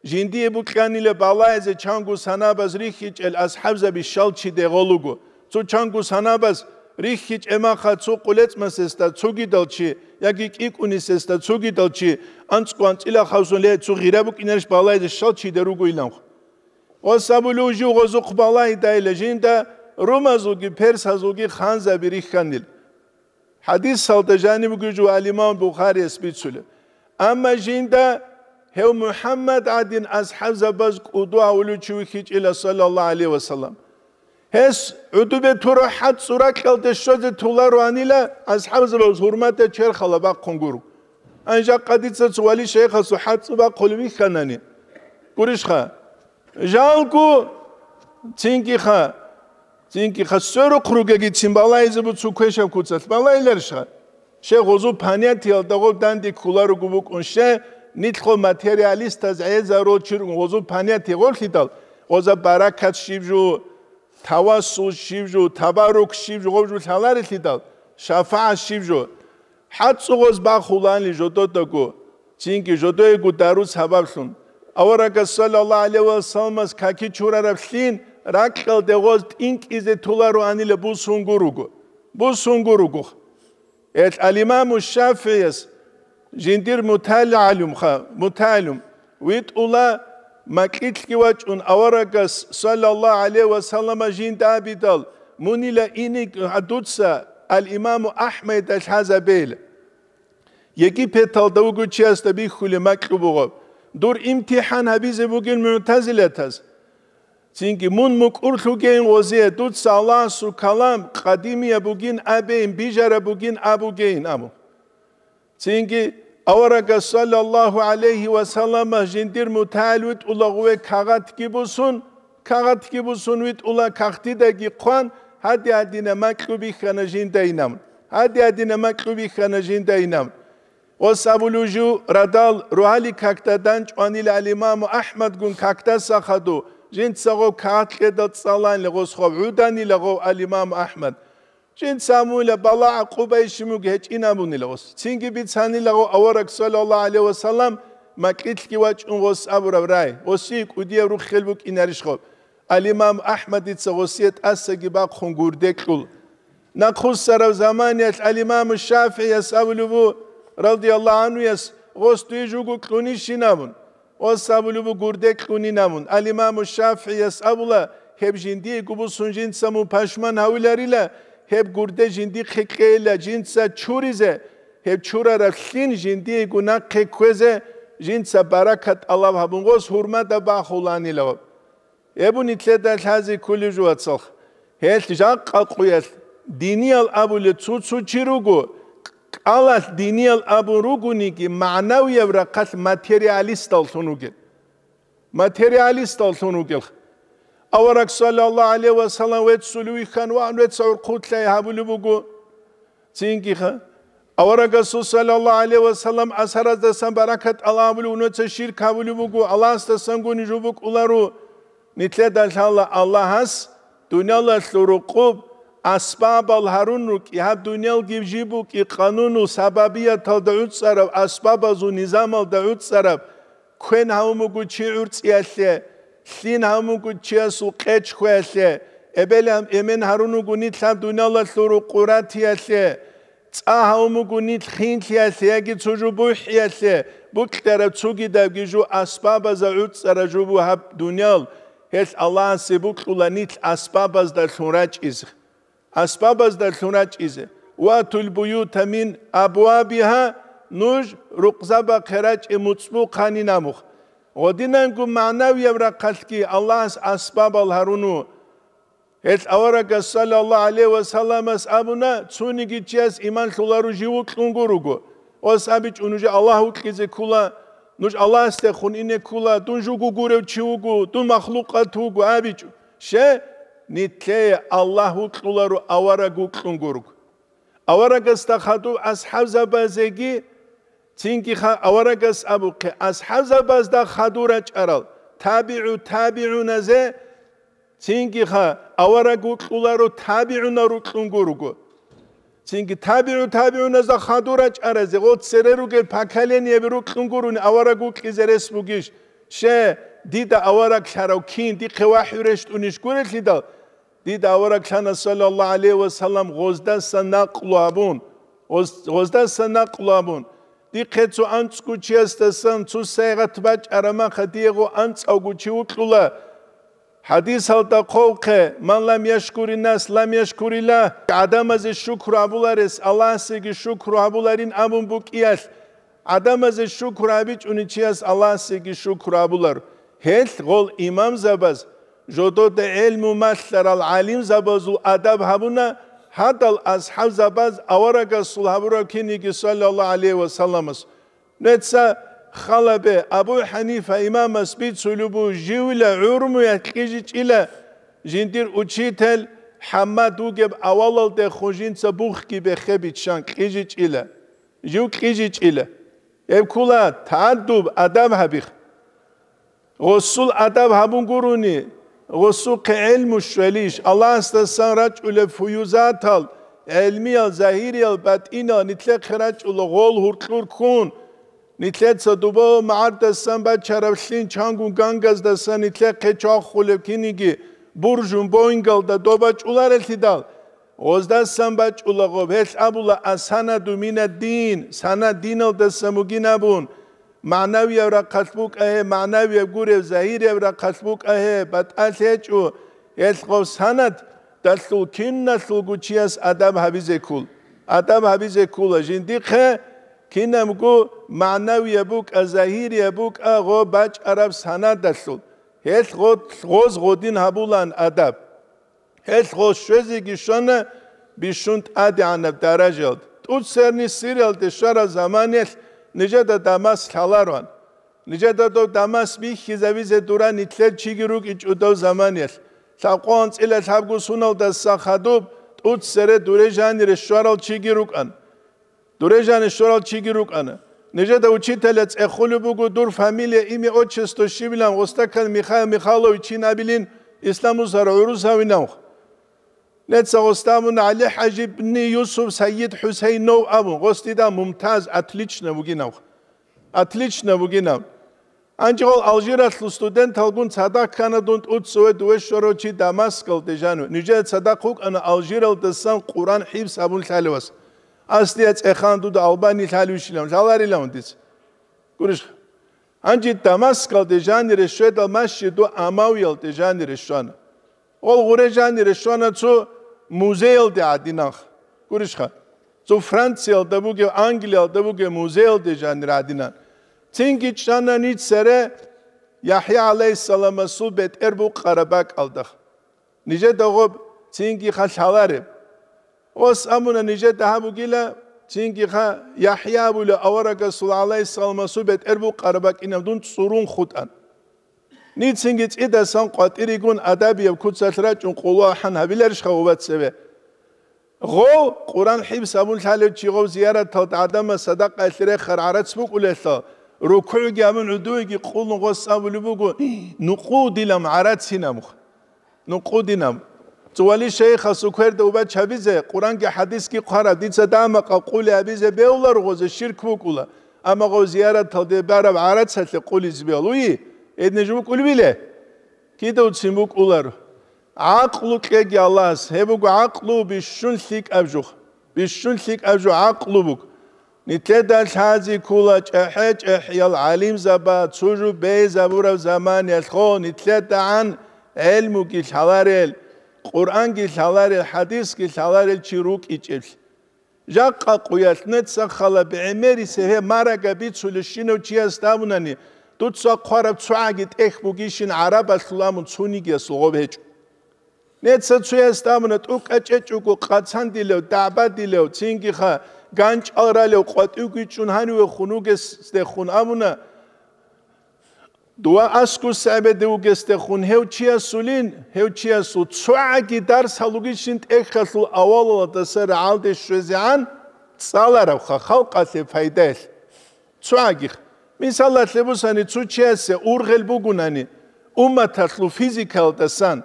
Жиндие букьанила балагьизе чанго санабаз рихьичӀел асхӀабзаби щал чи дегъолуго. Цо чанго санабаз рихьичӀемаха цо къулецӀмасесда цогидал чи, яги кӀикӀунисесда цогидал чи, анцӀго анцӀила хавсун ле, цо гъира букӀинарищ балагьизе щал чи де ругоиланха. Ва сабулев жив гъозухъ балагьидайила жинда румазулги персазулги ханзаби рихьанил. ХӀадисалда жаниб бугеб жо ал-Имам Бухарияс бицулеб. Амма жинда гьев МухӀаммад гӀадин асхӀабзабаз кӀуду гьавулев чи вихьичӀила, саллаллагьу гӀалайгьи ва саллам. Гьес гӀудубе турав хӀацӀцӀу ракьалде щвезе толароанила, асхӀабзабаз гьурматда черхала бахъун гуро. Ан жакъа дица цо вали-шайихасул хӀацӀцӀу бахъулеб бихьанани. Гурищха? Жалго, цинги ха, цинги ха, сверухъ ругеги цин балагьизе буцу квешаб куцалъ балагьиларищха? Щай гъозу понятиялда гъоб данде кколаруго букӀун, щай нилъго материалистаз гӀезарул чи ругун гъозу понятие гъорлъидал, гъоза баракат щиб жо, тавассул щиб жо, табарук щиб жо, гъоб жо лъаларелъидал, шафагӀат щиб жо. ХӀацӀцӀу гъоз бахулани жододаго, цинги жодоего дару сабаблъун. Аварагас саллаллагьу гӀалайгьи ва салламас каки чурараб лъин ракьалде гъоз тӀинкӀизе толароанила бусун гуруго. Бусун гуруго. Эл ал-Имаму ШафигӀияс жиндир мутагӀалимха, мутагӀалим, витӀула, макьилъги вачӀун аварагас саллаллагьу гӀалайгьи ва саллама жинда абидал, мунила иник дуца ал-Имаму АхӀмадида лъазабейла. Египеталда вугев чиясда бихьулеб макьу буго, дур имтихӀан гьабизе бугин мугӀтазилатаз. Цинги мун мукӀурлъугейин гъозие, дуца Аллагьасул калам къадимияб бугин абейин, бижараб бугин абугейин абу. Цинги аварагас саллаллагьу гӀалайгьи ва саллама жиндир мутагӀал витӀула гъуве кагъатги бусун, кагъатги бусун витӀула, кагътидаги хъван, гьади-гьадина макьу бихьана жинда инабун. Гьади-гьадина макьу бихьана жинда инабун. Гъос абулев жив радал рогьалил какда данчӀванила ал-Имаму АхӀмадгун какдаса хаду, жинца гъов кагъат кьедал цӀаланила гъос гъов гӀуданила гъов ал-Имаму АхӀмад. Жинца амула балагӀа къубай щимуг гьечӀин абунила гъос. Цинги бицанила гъов авараг саллаллагьу гӀалайгьи ва саллам макьилъги вачӀун гъос абураб рай, гъосие кӀудияб руххел букӀинарищ гъоб? Ал-Имам АхӀмадица гъосие тӀасаги бахъун гурде кьул. Нахъуссараб заманиялъ ал-Имаму ШафигӀияс абулеб бу, радияллагьу гӀанхуяс, гъос дуе жуго кьунищин абун. Гъос абулеб бу гурде кьунин абун. Ал-Имаму ШафигӀияс абула, гьеб жиндиего бусун жинца мун пашман гьавиларила, гьеб гурде жиндихъе кьейила жинца чуризе, гьеб чурараб лъин жиндиего нахъе кквезе, жинца баракат тӀалаб гьабун гъос гьурмада бахуланила. Гьеб нилъеда лъази кколеб жо, вацалха. Гьелъ жакъа къуялъ диниял абулеб цо-цо чи руго, кӀалалъ диниял абун ругониги, магӀнавияб рахъалъ материалисталлъун ругел. Материалисталлъун ругел. Авараг, саллаллагьу гӀалайгьи ва саллам, веццулев вихьан ван, вецца гӀурхъулъай гьабулеб буго. Цинги-, аварагасул, саллаллагьу гӀалайгьи ва саллам, асараздасан баракат тӀалаб гьабулев, нуца ширк гьабулеб буго, Аллагьасдасан гуни жубукӀуларо. Нилъеда лъала Аллагьас дуниялалъул рукъуб асбабал гьарун рукӀи, гьаб дуниялги жиб букӀи, къанунул сабабияталда гӀуцӀараб, асбабазул низамалда гӀуцӀараб, квен гьавун буго чи гӀурцӀиялъе, лъин гьавун буго чиясул къечхуялъе, эбел-, эмен гьарун вуго нилъ гьаб дуниялалъул рукъу ратиялъе, цӀа гьавун буго нилъ хинлъиялъе яги цо жо бухӀиялъе, букьараб цогидабги жо асбабазда гӀуцӀараб жо буго гьаб дуниял, гьелъ Аллагьасе бокьула нилъ асбабаздалъун рачӀизе. Асбабаздалъун рачӀизе. «Ватул буюта мин абвабиха», нуж рукъзабахъе рачӀе муцӀбухъанин абухъ. Гъодинанго магӀнавияб рахъалъги Аллагьас асбабал гьаруну. Гьелъ аварагас, саллаллагьу гӀалайгьи ва салламас, абуна: «Цониги чияс иман лъоларо жив вукьун гуруго». Ос абичӀо: «Нуж Аллагь вукьизе ккула, нуж Аллагьасдехун ине ккула, дун жуго гурев чи вуго, дун махлукъат вуго», абичӀо. Ще, нилъее Аллагь вукьуларо авараг вукьун гуруго. Аварагасда хадув асхӀабзабазеги, цинги ха-, аварагас абухъе, асхӀабзабазда хадур рачӀарал, табигӀу табигӀуназе, цинги ха-, авараг вукьуларо табигӀунал рукьун гуруго. Цинги табигӀу табигӀуназда хадур рачӀаразе, гъо цере ругел поколениеби рукьун гуруни авараг вукьизе рес бугищ? Ще, дида авараг лъарав кин, дихъе вахӀю рещтӀунищ гурелъидал, дида авараг лъана, саллаллагьу гӀалайгьи ва саллам, гъоздаса накълу гьабун, гъоз-, гъоздаса накълу гьабун, дихъе цо анцӀго чиясдасан цо сайгъат бачӀараб маха, диего анцӀавго чи вукьула. ХӀадисалда хъвавухъе: «Ман лам яшкури нас, лам яшкуриллагь». ГӀадамазе шукру гьабуларес Аллагьасеги шукру гьабуларин абун букӀиялъ, гӀадамазе шукру гьабичӀони чияс Аллагьасеги шукру гьабулар. Гьелъ гъол имамзабаз, жодода гӀелму малъарал гӀалимзабазул адаб гьабуна, гьадал асхӀабзабаз аварагасул гьабураб киниги, саллаллагьу гӀалайгьи ва салламас. Нуца халабе, Абу ХӀанифа имамас бицулеб буго, живила гӀурмуялъ кьижичӀила жиндир учитель ХӀаммад вугеб авалалдехун жинца бухги бехе биччан кьижичӀила. Жив кьижичӀила. Гьеб ккула тагӀаддуб, адаб гьабихъ. Гъосул адаб гьабун гурони, гъосухъе гӀелму щвелищ, Аллагьасдасан рачӀулеб фуюзатал, гӀелмиял, загьириял, батӀиниял, нилъехъе рачӀула гъол гьуркьур ккун, нилъеца дубав магӀардасан бачарав лъин чангун гангаздасан нилъехъе чвахулеб киниги буржун Боингалда добачӀуларелъидал, гъоздасан бачӀула гъоб, гьелъ абула: «Ас-санаду минад-дин», санад диналдасан бугин абун, магӀнавияб рахъалъ букӀа гьеб, магӀнавияб гуреб, загьирияб рахъалъ букӀа гьеб, батӀалъ гьечӀо, гьелъ гъоб санадалъул киналъулго чияс адаб гьабизе ккол. Адаб гьабизе ккола жиндихъе кинабго магӀнавияб букӀа, загьирияб букӀа гъоб бачӀараб санадалъул. Гьелъ гъо-, гъоз гъодин гьабулаан адаб. Гьелъ гъо щвезеги щвана бищун тӀадегӀанаб даражаялда. ТӀуцерни Сириялде щвараб заманиялъ нижеда Дамаск лъалароан. Нижеда дов Дамаск бихьизавизе дура нилъер чиги рукӀичӀо дов заманиялъ. Лъабкъо анцӀила лъабго суналдаса хадуб тӀуцере дуре жанире щварал чиги рукӀан. Дуре жанир щварал чиги рукӀана. Нижеда учителя цӀехулеб буго дур фамилия, имя, отчество щибилан, гъосда ккан Михаил Михайлович ин абилин, Исламусар гӀурус гьавинавх. Нецца гъосда абун ГӀали ХӀажибни Юсуф Сайид ХӀусейнов абун, гъос дида Мумтаз, отлично бугинавх. Отлично бугинав. Гьанже гъол Алжиралъул студенталгун цадахъ ккана дун тӀуццуве дуве щварав чи Дамаскалде жанив. Нижеда цадахъ вукӀана Алжиралдасан Къуръан хӀифз гьабун лъалевас. Аслия цӀехаан дуда Албани лъалевищилан, лъаларилан дица. Гурищха? Гьанже Дамаскалде жанире щведал, Масжиду Амавиялде жанире щвана. Гъол гъуре жанире щвана цо музеялде гӀадинанха. Гурищха? Цо Франциялда бугев, Англиялда бугев музеялде жанир гӀадинан. Цинги чӀана ниж цере ЯхӀя гӀалайгьиссаламасул бетӀер букъараб бакӀалда. Нижеда гъоб цинги хал лъалареб. Ос абуна нижеда гьаб бугила, Цинги ха, ЯхӀя абулев аварагасул гӀалайгьиссаламасул бетӀер букъараб бакӀинаб дун цӀурун хутӀан. Ницинги цӀидасан къватӀиригун адабияб куцалъ рачӀун къуло ахӀан гьабиларищха гъуба цебе? Гъов, Къуран хӀифз абун лъалев чи гъов зияраталда гӀадамаз садакъаялъе рехар гӀарац букӀулелъул, рукугӀги абун гӀудуйги къулун гъос абулеб буго: «Нукъу дилам гӀарацинаб». Нукъу динаб. ЦӀували шайихасул кверда убач гьабизе, Къуранги хӀадисги хъвараб, дица дамакъа къули гьабизе бевлар гъозе ширк букӀула, амма гъов зияраталде бараб гӀарацалъе къулизе бевлуи, гьединиж букӀулбиле? Кидавцин букӀулар. ГӀакълу кьеги Аллагьас, гьеб буго гӀакълу бищун лъикӀаб жух. Бищун лъикӀаб жо гӀакълу буго. Нилъеда лъази ккола чӀехӀе-чӀехӀиял гӀалимзаба, цо жо бейзабураб заманиялъго нилъедагӀан гӀелмуги лъаларел, Къуръанги лъаларел, хӀадисги лъаларел чи рукӀичӀеблъи. Жакъа къуялъ нецахъала бегӀемерисеб гьеб марага бицулев щинав чиясда абунани, дуца хъвараб цогӀаги тӀехь бугищин гӀарабалъул амун цунигиясул гъоб гьечӀо. Неца цуясда абуна, тӀукӀа чӀечӀого къацандилев, дагӀбадилев, цинги ха, ганчӀал ралев, къватӀивги чӀун гьанивехун вугесдехун абуна, дова аскӀус гӀебеде вугесдехун гьев чиясулин, гьев чиясул цогӀаги дарс гьалугищин тӀехьалъул авалалдаса рагӀалде щвезегӀан цӀаларабха халкъалъе пайдаялъ. ЦогӀагих. Мисалалъе бусани, цо чиясе ургъел бугунани, умматалъул физикалдасан.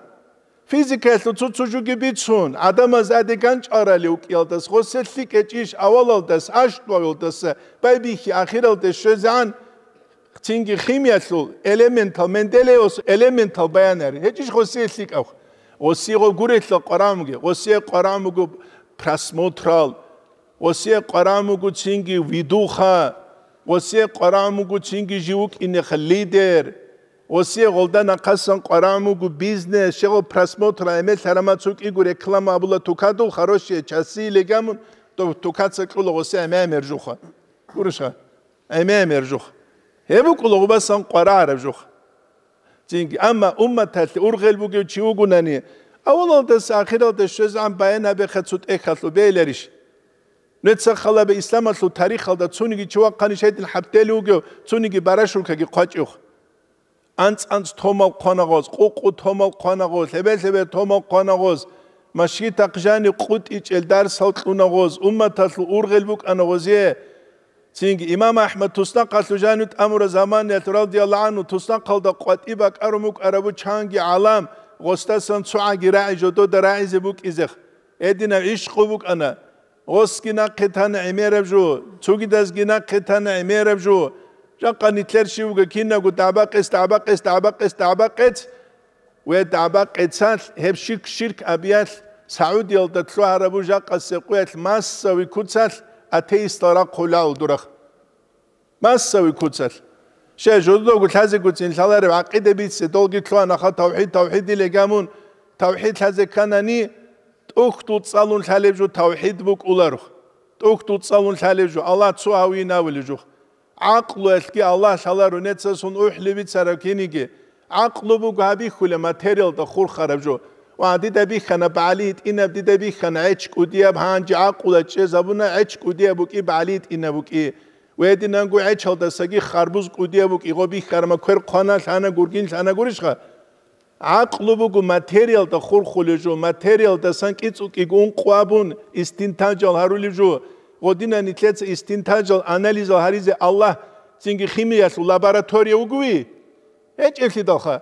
Физикалъул цо-цо жуги бицун, гӀадамаз аде ганчӀарали вукӀиялдас, гъосе лъикӀ гьечӀищ авалалдас, аштӀвавалдаса, байбихьи ахиралде щвезегӀан, цинги химиялъул элементал, Менделеевас элементал баян гьари. ГьечӀищ гъосие лъикӀав? Гъосие гъо гурелъа къварамги, гъосие къварамгу просмотрал, гъосие къваран буго цинги видуха, гъосие къваран буго цинги жив вукӀинеха лидер, гъосие гъолда нахъасан къваран буго бизнес, щегъо просмотр, гӀемер лъарама цукӀиго реклама абула тукадул, хорошие часы легамун, то тукаца кьула гъосие гӀемер жуха. Гурищха? ГӀемер жуха. Гьеб букӀула гъубасан къварараб жуха. Цинги, амма умматалъе ургъел бугев чи вугунани, авалалдаса ахиралде щвезегӀан баян гьабеха цо тӀехьалъу бейиларищ? Нуца халабе исламалъул тарихалда цониги чи вахъанищ гьедин хӀаптели вугев, цониги барашулкаги хъвачӀев. АнцӀ-анцӀ томал хъванагъоз, къукъу томал хъванагъоз, лъебе-лъебе томал хъванагъоз, машгитахъ жанив къутӀичӀел дарсал кьунагъоз, умматалъул ургъел букӀанагъозе. Цинги имам АхӀмад туснахъалъув жанив тӀамураб заманиялъ радияллагьу гӀанху туснахъалда къватӀи бакӀарун букӀарабу чанги гӀалам, гъосдасан цогӀаги рагӀи жодода рагӀизе букӀизех. Гьединаб гӀишкъу букӀана. Гъосги нахъе тана гӀемераб жо, цогидазги нахъе тана гӀемераб жо. Жакъа нилъер щивго кинабго дагӀба-къец, дагӀба-къец, дагӀба-къец, дагӀба-къец. Ва дагӀба-къецалъ гьеб ширк-ширк абиялъ Саудиялда лъугьарабу жакъасе къуялъ массави куцалъ атеистал рахъулаул дурахъ. Массави куцалъ. Щай жододаго лъазегоцин лъаларев гӀакъида бице, долги лъугьанаха тавхӀид, тавхӀидиле гамун, тавхӀид лъазе кканани, тӀухьдул цӀалун лъалеб жо тавхӀид букӀуларухъ. ТӀухьдул цӀалун лъалеб жо, Аллагь цо гьавин авулеб жо. ГӀакълуялъги Аллагь лъаларо нецасун ухӀли бицараб киниги. ГӀакълу буго гьабихьулеб материалда хурхараб жо. Ва дида бихьана багӀали гьитӀинаб, дида бихьана гӀеч кӀудияб, гьанже гӀакълуялъ чӀезабуна гӀеч кӀудияб букӀи, багӀали гьитӀинаб букӀи. Ва гьединанго гӀечалдасаги харбуз кӀудияб букӀи, гъо бихьарма квер хъвана лъана гургин лъана гурищха? ГӀакълу буго материалда хурхулеб жо, материалдасан кӀицӀул кӀиго ункъо абун, истинтажал гьарулеб жо. Гъодина нилъеца истинтажал анализал гьаризе Аллагь цинги химиялъул лаборатория вугови? ГьечӀеблъидалха.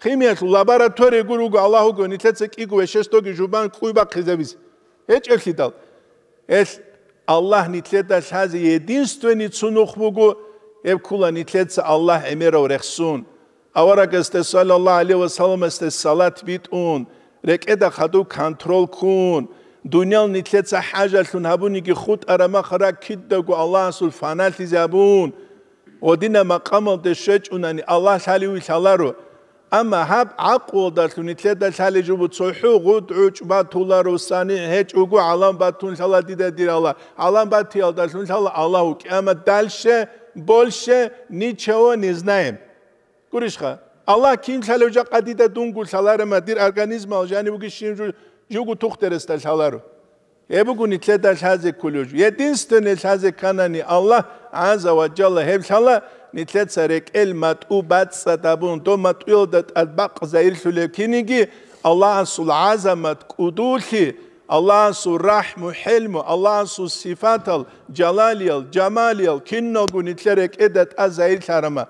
Химиялъул лаборатория гур вуго Аллагь вуго, нилъеца кӀиго вешесдоги жубан кӀуй бахъизабизе. ГьечӀеблъидал. Гьелъ Аллагь нилъеда лъазе единственный цунухъ буго, гьеб ккула нилъеца Аллагь гӀемерав рехсун, аварагасде саллаллагьу гӀалайгьи ва салламасде салат битӀун, рекӀеда хадуб контрол ккун, дуниял нилъеца хӀажалъун гьабуниги хутӀараб махара кидаго Аллагьасул фаналъизе гьабун, гъодина макъамалде щвечӀунани Аллагь лъаливи лъаларо. Амма гьаб гӀакълуялдалъун нилъеда лъалеб жо буго цохӀо гъудгӀучӀ батуларо, санигӀ гьечӀого гӀалам батун лъала дида дир Аллагь. ГӀалам батиялдалъун лъала Аллагь вукӀи, амма дальше, больше ничего не знаем. Гурищха? Аллагь кин лъалев жакъа дида дунго лъаларема, дир организмал жанив вугищин жу-, жуго тухтересда лъаларо. Гьеб буго нилъеда лъазе кколев жо. Единственный лъазе кканани Аллагь гӀазза ва жалла, гьеб лъала нилъеца рекӀел матӀу бацӀцӀад абун, дов матӀуялда тӀад бакъ загьирлъулев киниги, Аллагьасул гӀазамат, кӀудулъи, Аллагьасул рахӀму, хӀелму, Аллагьасул сифатал, жалалиял, жамалиял, киналго нилъер рекӀеда тӀад загьирлъарама.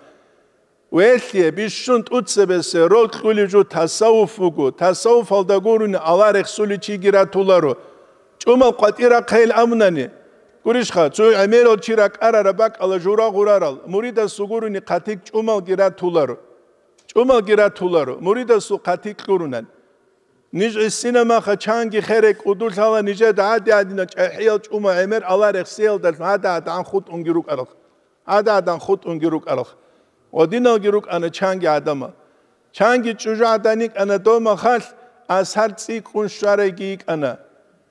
Велъие, бищун тӀуцебесеб роль кьулев жо тасаввуф вуго. Тасаввуфалда гурони Аллагь рехсулев чиги ратуларо. ЧӀумал къватӀир рахъайил абунани, гурищха, цо гӀемерал чи ракӀарараб бакӀалда жура гъурарал, муридасул гурони хъатикь чӀумалги ратуларо. ЧӀумалги ратуларо, муридасул хъатикь кьурунан. Ниж гӀисинаб маха чанги херай кӀудулъала нижеда гӀади-гӀадинал чӀахӀиял чӀумал гӀемер Аллагь рехсиялдалъун гьада-гьадагӀан хутӀунги рукӀарал. ГӀада-гӀадан хутӀунги рукӀарал. Гъодиналги рукӀана чанги гӀадамал. Чанги чӀужугӀадан йикӀана дов махалъ, асар цӀикӀкӀун щварайги йикӀана.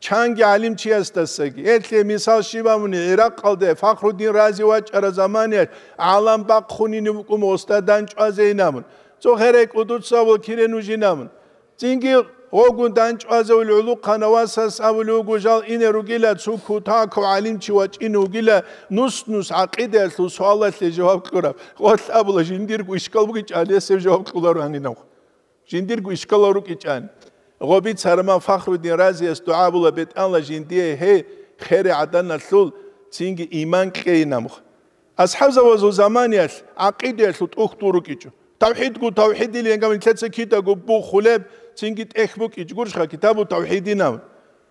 Чанги гӀалимчиясдасаги. Гьелъие мисал щиб абуни, ГӀиракъалде Фахруддин Рази вачӀараб заманиялъ гӀалам бахъунин вукӀун гъосда дандчӀвазейин абун. Цо херай кӀудуца вукӀине нужин абун. Цинги гъогун дандчӀвазавулев гӀулухъана васас абулев вуго, жал ине ругила, цо кутакав гӀалимчи вачӀине вугила, нус-нус гӀакъидаялъул суалалъе жаваб кьураб. Къолъ абула, жиндирго ишкал бугичӀан, гьесев жаваб кьуларо гьанинав. Жиндирго ишкалал рукӀичӀан. Гъоби царма Фахруддин Разияс дугӀа була, БетӀалла, жиндие гьей херай гӀаданалъул цинги иман кьейин абун. АсхӀабзабазул заманиялъ гӀакъидаялъул тӀухьдул рукӀичӀо. Тавхидгу тавхидилин гьаб нилъеца кидаго бухулеб, цинги тӀехь букӀичӀ гурищха китабу тавхидин абун.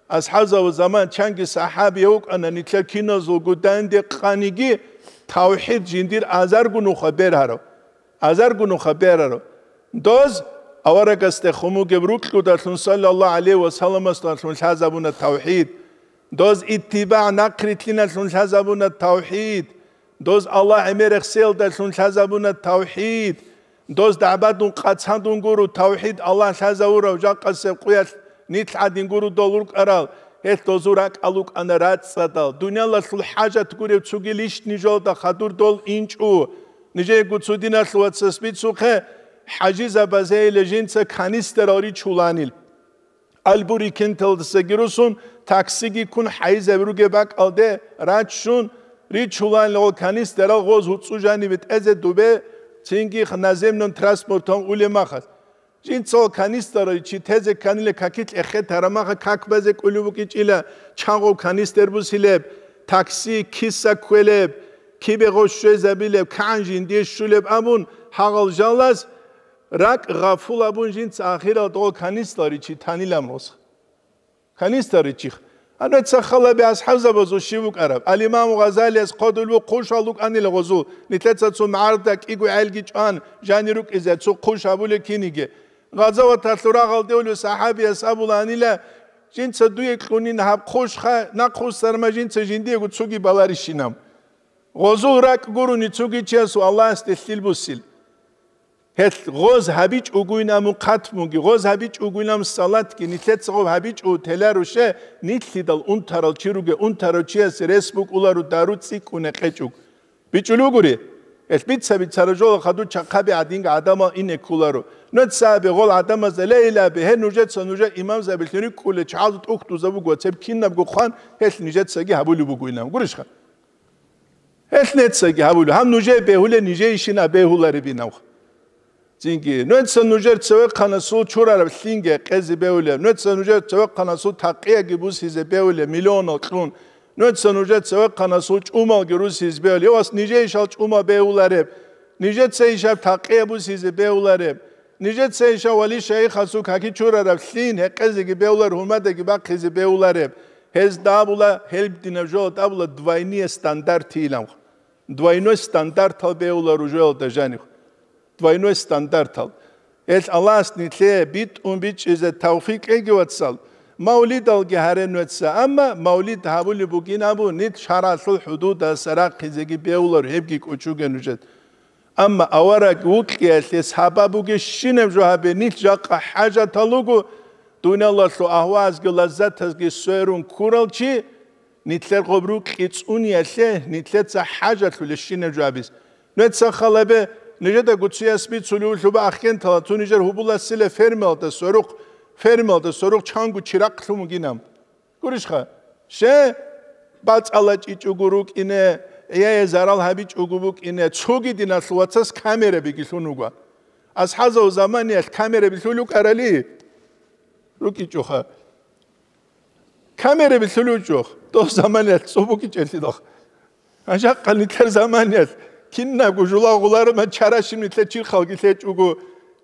АсхӀабзабазул заман чанги сахӀабияв вукӀана, нилъер киназулго данде къаниги тавхид жиндир азарго нуха бергьарав. Азарго нуха бергьарав. Доз аварагасде хун бугеб рукьудалъун, саллаллагьу гӀалайгьи ва салламасдалъун лъазабуна тавхид. Доз иттибагӀ нахърилълъиналъун лъазабуна тавхид. Доз Аллагь гӀемер рехсеялдалъун лъазабуна тавхид. Доз дагӀбадун къацандун гуро тавхид Аллагь лъазавурав жакъасеб къуялъ нилъ гӀадин гуро дол рукӀарал, гьелъ дозул ракӀал рукӀана рацӀцӀадал. Дуниялалъул хӀажат гурев цоги лищни жолда хадур дол инчӀо. Нижеего цо диналъул вацас бицухъе, хӀажизабазейила жинца канистерал ричуланил. Албурикенталдасаги русун, таксиги ккун хӀайизаби ругеб бакӀалде раччун, ричуланила гъо канистерал гъоз гьуцӀу жанибе тӀезе дубе, цинги наземным транспортом улеб махалъ. Жинцал канистерал чи тезе кканила какилъ эхетараб маха как базе кӀулев букӀичӀила, чан гъов канистер бусилеб, такси киса кквелеб, кибе гъов щвезабилеб, кагӀан жиндие щулеб абун, гьагъал жалаз ракӀ гъафул абун жинца ахирал догъо канистер чи танилан рос. Канистер ричихъ. Гьанна цахалаби асхӀабзабазул щив вукӀараб? Ал-Имаму Гъазалияс хъодулев хъушал рукӀанила гъозул, нилъеца цо мгӀарда кӀиго гӀелги чӀван, жани рукӀизе цо хъуш гьабулеб киниги. Гъазаваталъул рагъалде улев сахӀабияс абуланила, жинца дуе кьунин гьаб хъушха, нахъ хъусарма жинца жиндиего цоги баларищинаб. Гъозул ракӀ гурони цоги чиясул Аллагьасде лъил буссил. Гьелъ гъоз гьабичӀ угуйин абун хъатмуги, гъоз гьабичӀ угуйин абун салатги, нилъеца гъоб гьабичӀо теларуше, нилъидал унтарал чи руге, унтарав чиясе рес букӀуларо дару цӀикӀкӀуне къечӀуг. БичӀулугури? Гьелъ бица-бицара жола хадур чахъаби гӀадинги гӀадамал ине кколаро. Нуцаби гъол гӀадамазда лейилаби, гье, нужеца нужер имамзабилъун рикӀкӀулел чагӀазул тӀухьдузаб буго, цеб кинабго хъван, гьелъ нижецаги гьабулеб бугойилан. Гурищха? Гьелъ нецаги гьабулеб, гьаб нужее бегьулеб, нижейищина бегьуларебинав. Цинги, нуца нужер цевехъанасул чурараб лъинги къезе бегьулеб, нуца нужер цевехъанасул такъияги бусизе бегьулеб, миллионал кьун, нуца нужер цевехъанасул чӀумалги русизе бегьулеб, вас нижейищал чӀума бегьулареб, нижецайищал такъия бусизе бегьулареб, нижецайищал вали-шайихасул каки чурараб лъин гьекъезеги бегьулареб, гьумадаги бахъизе бегьулареб, гьезда абула, гьелбдинаб жола абула двойные стандарты илан. Двойной стандартал бегьула ружоялда жанив. Двойной стандартал. Гьелъ Аллагьас нилъее битӀун бичӀчӀизе тавфикъ кьеги, вацал. Мавлидалги гьаре нуца, амма мавлид гьабулеб бугин абу, нилъ шаргӀалъул хӀудудаса рахъизеги бегьулар, гьебги кӀочуге нужед. Амма авараг вукьиялъе сабаб бугебщинаб жо гьабе, нилъ жакъа хӀажатал руго, дуниялалъул агьвазги лаззатазги сверун ккурал чи, нилъер гъоб рукьи цӀуниялъе нилъеца хӀажалъулебщинаб жо гьабиз. Нуца халабе, нижеда гуцияс бицулев лъуба ахкентала цо нижер гьубуласила фермалда сверухъ, фермалда сверухъ чанго чирахълъун вугинаб. Гурищха? Ще, бацӀала чӀичӀого рукӀине, гӀияе зарал гьабичӀого букӀине, цоги диналъул вацас камерабиги лъун вуго. АсхӀазул заманиялъ камераби лъулев кӀарали рукӀичӀоха. Камераби лъулев чӀох, дов заманиялъ цӀубукӀичӀелъидал. Жакъа нилъер заманиялъ кинабго жулагъуларо, чарашим нилъер чирхалги лъечӀого,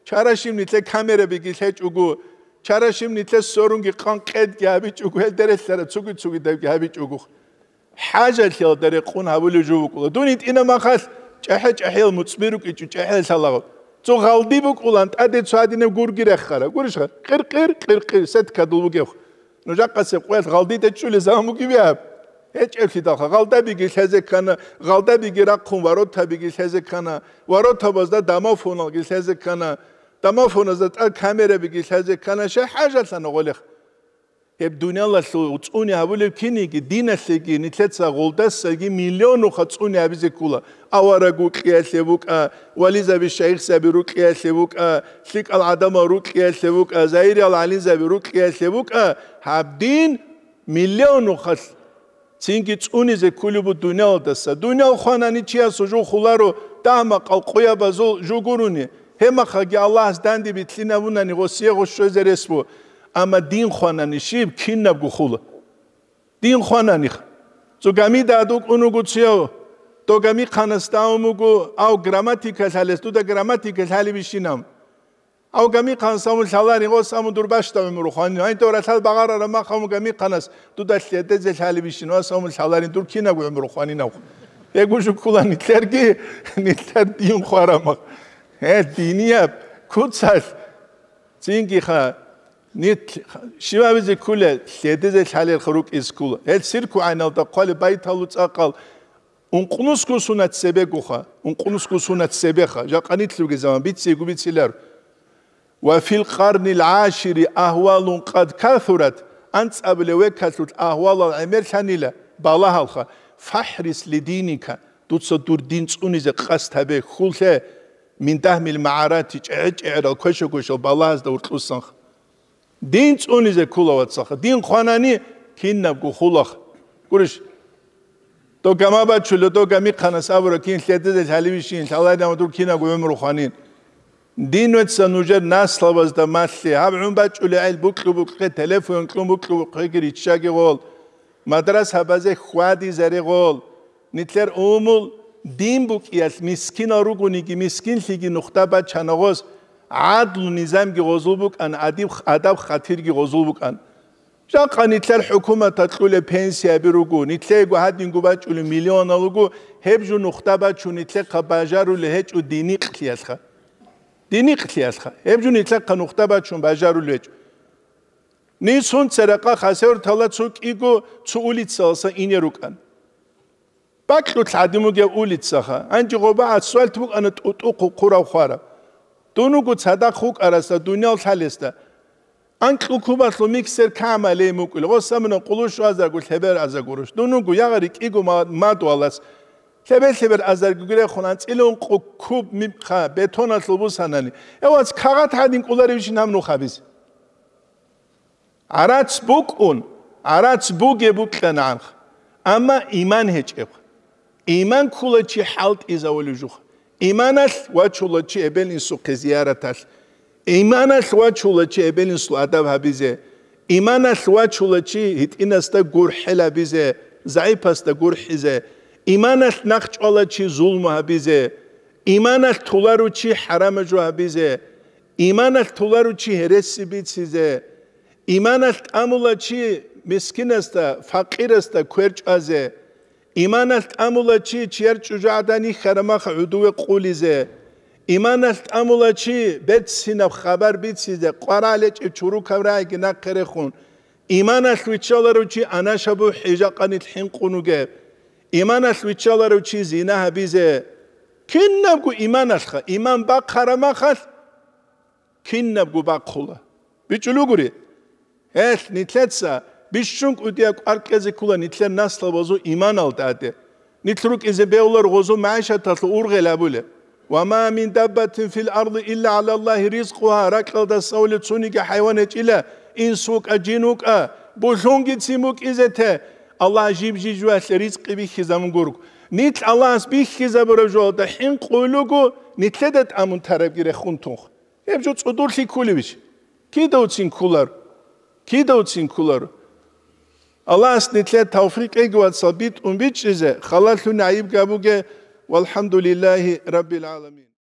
чарашим нилъер камерабиги лъечӀого, чарашим нилъер сорунги къан къедги гьабичӀого, гьел дерелъара цуги-цугидабги гьабичӀого. ХӀажалъиялда рекъун гьабулев жо букӀула. Дун гьитӀина махалъ чӀахӀи-чӀахӀиял муцӀби рукӀичӀо, чӀахӀиял лъалагъ. Цо гъалди букӀулан, тӀаде цо гьадинаб гурги рехара. Гурищха? Къир-къир, къир-къир, сеткадул бугевх. Нужахъасеб къоялъ гъалдида чӀулел заман бугебиаб? ГьечӀеблъидалха, гъалдабиги лъезе ккана, гъалдабиги рахъун воротабиги лъезе ккана, воротабазда домофоналги лъезе ккана, домофоназда тӀад камерабиги лъезе ккана, щай хӀажалъана гъолех? Гьеб дуниялалъул цӀуни гьабулеб киниги, диналъеги, нилъеца гъолдасаги миллионуха цӀуни гьабизе ккула. Авараг рукьиялъе букӀа, вализаби, шайихзаби рукьиялъе букӀа, лъикӀал гӀадамал рукьиялъе букӀа, загьириял гӀалимзаби рукьиялъе букӀа, гьаб дин миллионухалъ цинги цӀунизе ккулеб буго дуниялалдаса. Дуниял хванани чиясул жо хуларо, дагьа-макъал къоябазул жо гурони, гьебмахаги Аллагьас данде битлъинабунани гъосие гъос щвезе рес буго. Амма дин хванани щиб, кинабго хула. Дин хвананих. Цо гамида адукӀун вуго цияв, дов гамихъанас давун вуго, ав грамматика лъалес, дуда грамматика лъалебищинав? Ав гамихъанас амун лъаларин, ос амун дур бащда гӀумру хванин. Гьанив ралъал багъарараб мах амун гамихъанас дуда лъедезе лъалебищин, ос амун лъаларин, дур кинабго гӀумру хванинав? Гьего жуккула нилъерги, нилъер дин хварамах. Гье, динияб, куцалъ. Цинги-ха, нит щивабизе ккула, лъедезе лъалелха рукӀиз ккула. Гьел цирку гӀайналда хъвалеб байталу цӀакъал, ункънусго сунат цебегоха, ункънусго сунат цебеха, жакъа нилъ ругезаман бицейгу бицилар. «Ва фил къарнил гӀашири агьвалун къад касурат», анцӀабилев векалъулъ агьвалал гӀемерлъанила, балагьалха, «фахӀрис ли диника», дуца дур дин цӀунизе къасд гьабе, хьуллъе, «мин дагьмил магӀарати», чӀегӀи-чӀегӀирал квеша-квешал балагьазда уркьусанха. Дин цӀунизе ккула, вацаха. Дин хванани, кинабго хулах. Гурищ, дов гама бачула, дов гамихъанас абура, кин лъедезе лъалевищин, лъалайдама дур кинабго гӀумру хванин. Дин вецца нужер наслабазда малъе. Гьаб гӀун бачӀулегӀел букьу-букье, телефон кьун букьу-букьеги риччаги гъол. Мадрасабазе хьвадизаре гъол. Нилъер умул дин букӀиялъ мискинал ругониги, мискинлъиги нухда бачана гъоз, гӀадлу низамги гъозул букӀан, адиб-, адаб-хатирги гъозул букӀан. Жакъа нилъер хӀукуматалъ кьулеб пенсияби руго, нилъего гьадинго бачӀулеб миллионал руго, гьеб жо нухда бачун нилъехъа бажарули гьечӀо динихълъиялъха. Динихълъиялъха. Гьеб жо нилъехъа нухда бачун бажарули гьечӀо. Нисун церекъа Хасавюрталда цо кӀиго цо улицалъа ине рукӀан. Бакьулъ гӀадин бугеб улицаха. Гьанже гъоба асфальт букӀана тӀутӀухъ хъурав хвараб. Дун вуго цадахъ вукӀарасда, дуниял лъалесда. Анкьу кубалъул миксер камалей мукӀил. Гъос амина къулу щуазаргу лъебер азаргу руш. Дун вуго ягъари кӀиго ма-, мадуалас. Лъебер-лъебер азаргуги рехун анцӀила ункъу куб мибха бетоналъул бусанани. Эвац кагъат гьадин кӀоларевщин гьаб нухабиз. ГӀарац букӀун, гӀарац бугеб букьанагӀанха, амма иман гьечӀебха. Иман ккула чи хӀалтӀизавулев жуха. Иманалъ вачула чи эбел-инсухъе зияраталъ. Иманалъ вачула чи эбел-инсул адаб гьабизе. Иманалъ вачула чи гьитӀинасда гурхӀел гьабизе, загӀипасда гурхӀизе. Иманалъ нахъ чӀвала чи зулму гьабизе. Иманалъ толару чи хӀарамаб жо гьабизе. Иманалъ толару чи гьереси бицизе. Иманалъ тӀамула чи мискинасда, факъирасда квер чӀвазе. Иманалъ тӀамула чи чияр чӀужугӀадан йихьараб мах гӀодове къулизе. Иманалъ тӀамула чи берцинаб хабар бицизе, къваригӀел гьечӀеб чурукаб рагӀиги нахъе рехун. Иманалъ виччаларав чи анашабу хӀижакъанилъ хӀинкъун вугеб. Иманалъ виччаларав чи зина гьабизе. Кинабго иманалъха, иман бахъараб махалъ, кинабго бахъула. БичӀчӀулугури. Гьелъ, нилъеца бищун кӀудияб кӀвар кьезе ккула нилъер наслабазул иманалда тӀаде. Нилъ рукӀизе бегьулар гъозул магӀишаталъул ургъел абулеб. «Ва ма мин даббатин фил арди илла гӀала Аллагьи ризкъугьа», ракьалда савулеб цониги хӀайван гьечӀила, инс вукӀа, жин вукӀа, булъунгицин букӀизе те, Аллагь жиб-жиб жоялъе ризкъи бихьизабун гурго. Нилъ Аллагьас бихьизабураб жоялда хӀинкъулего, нилъеда тӀамун тарабги рехун тунх. Гьеб жо цӀудурлъи кколебищ? Кидавцин кколар? Кидавцин кколар? Аллагьас нилъе тавфикъ кьеги, вацал, битӀун бичӀчӀизе, халалъун гӀайиб гьабуге. ВалхӀамдулиллагьи раббил гӀаламин.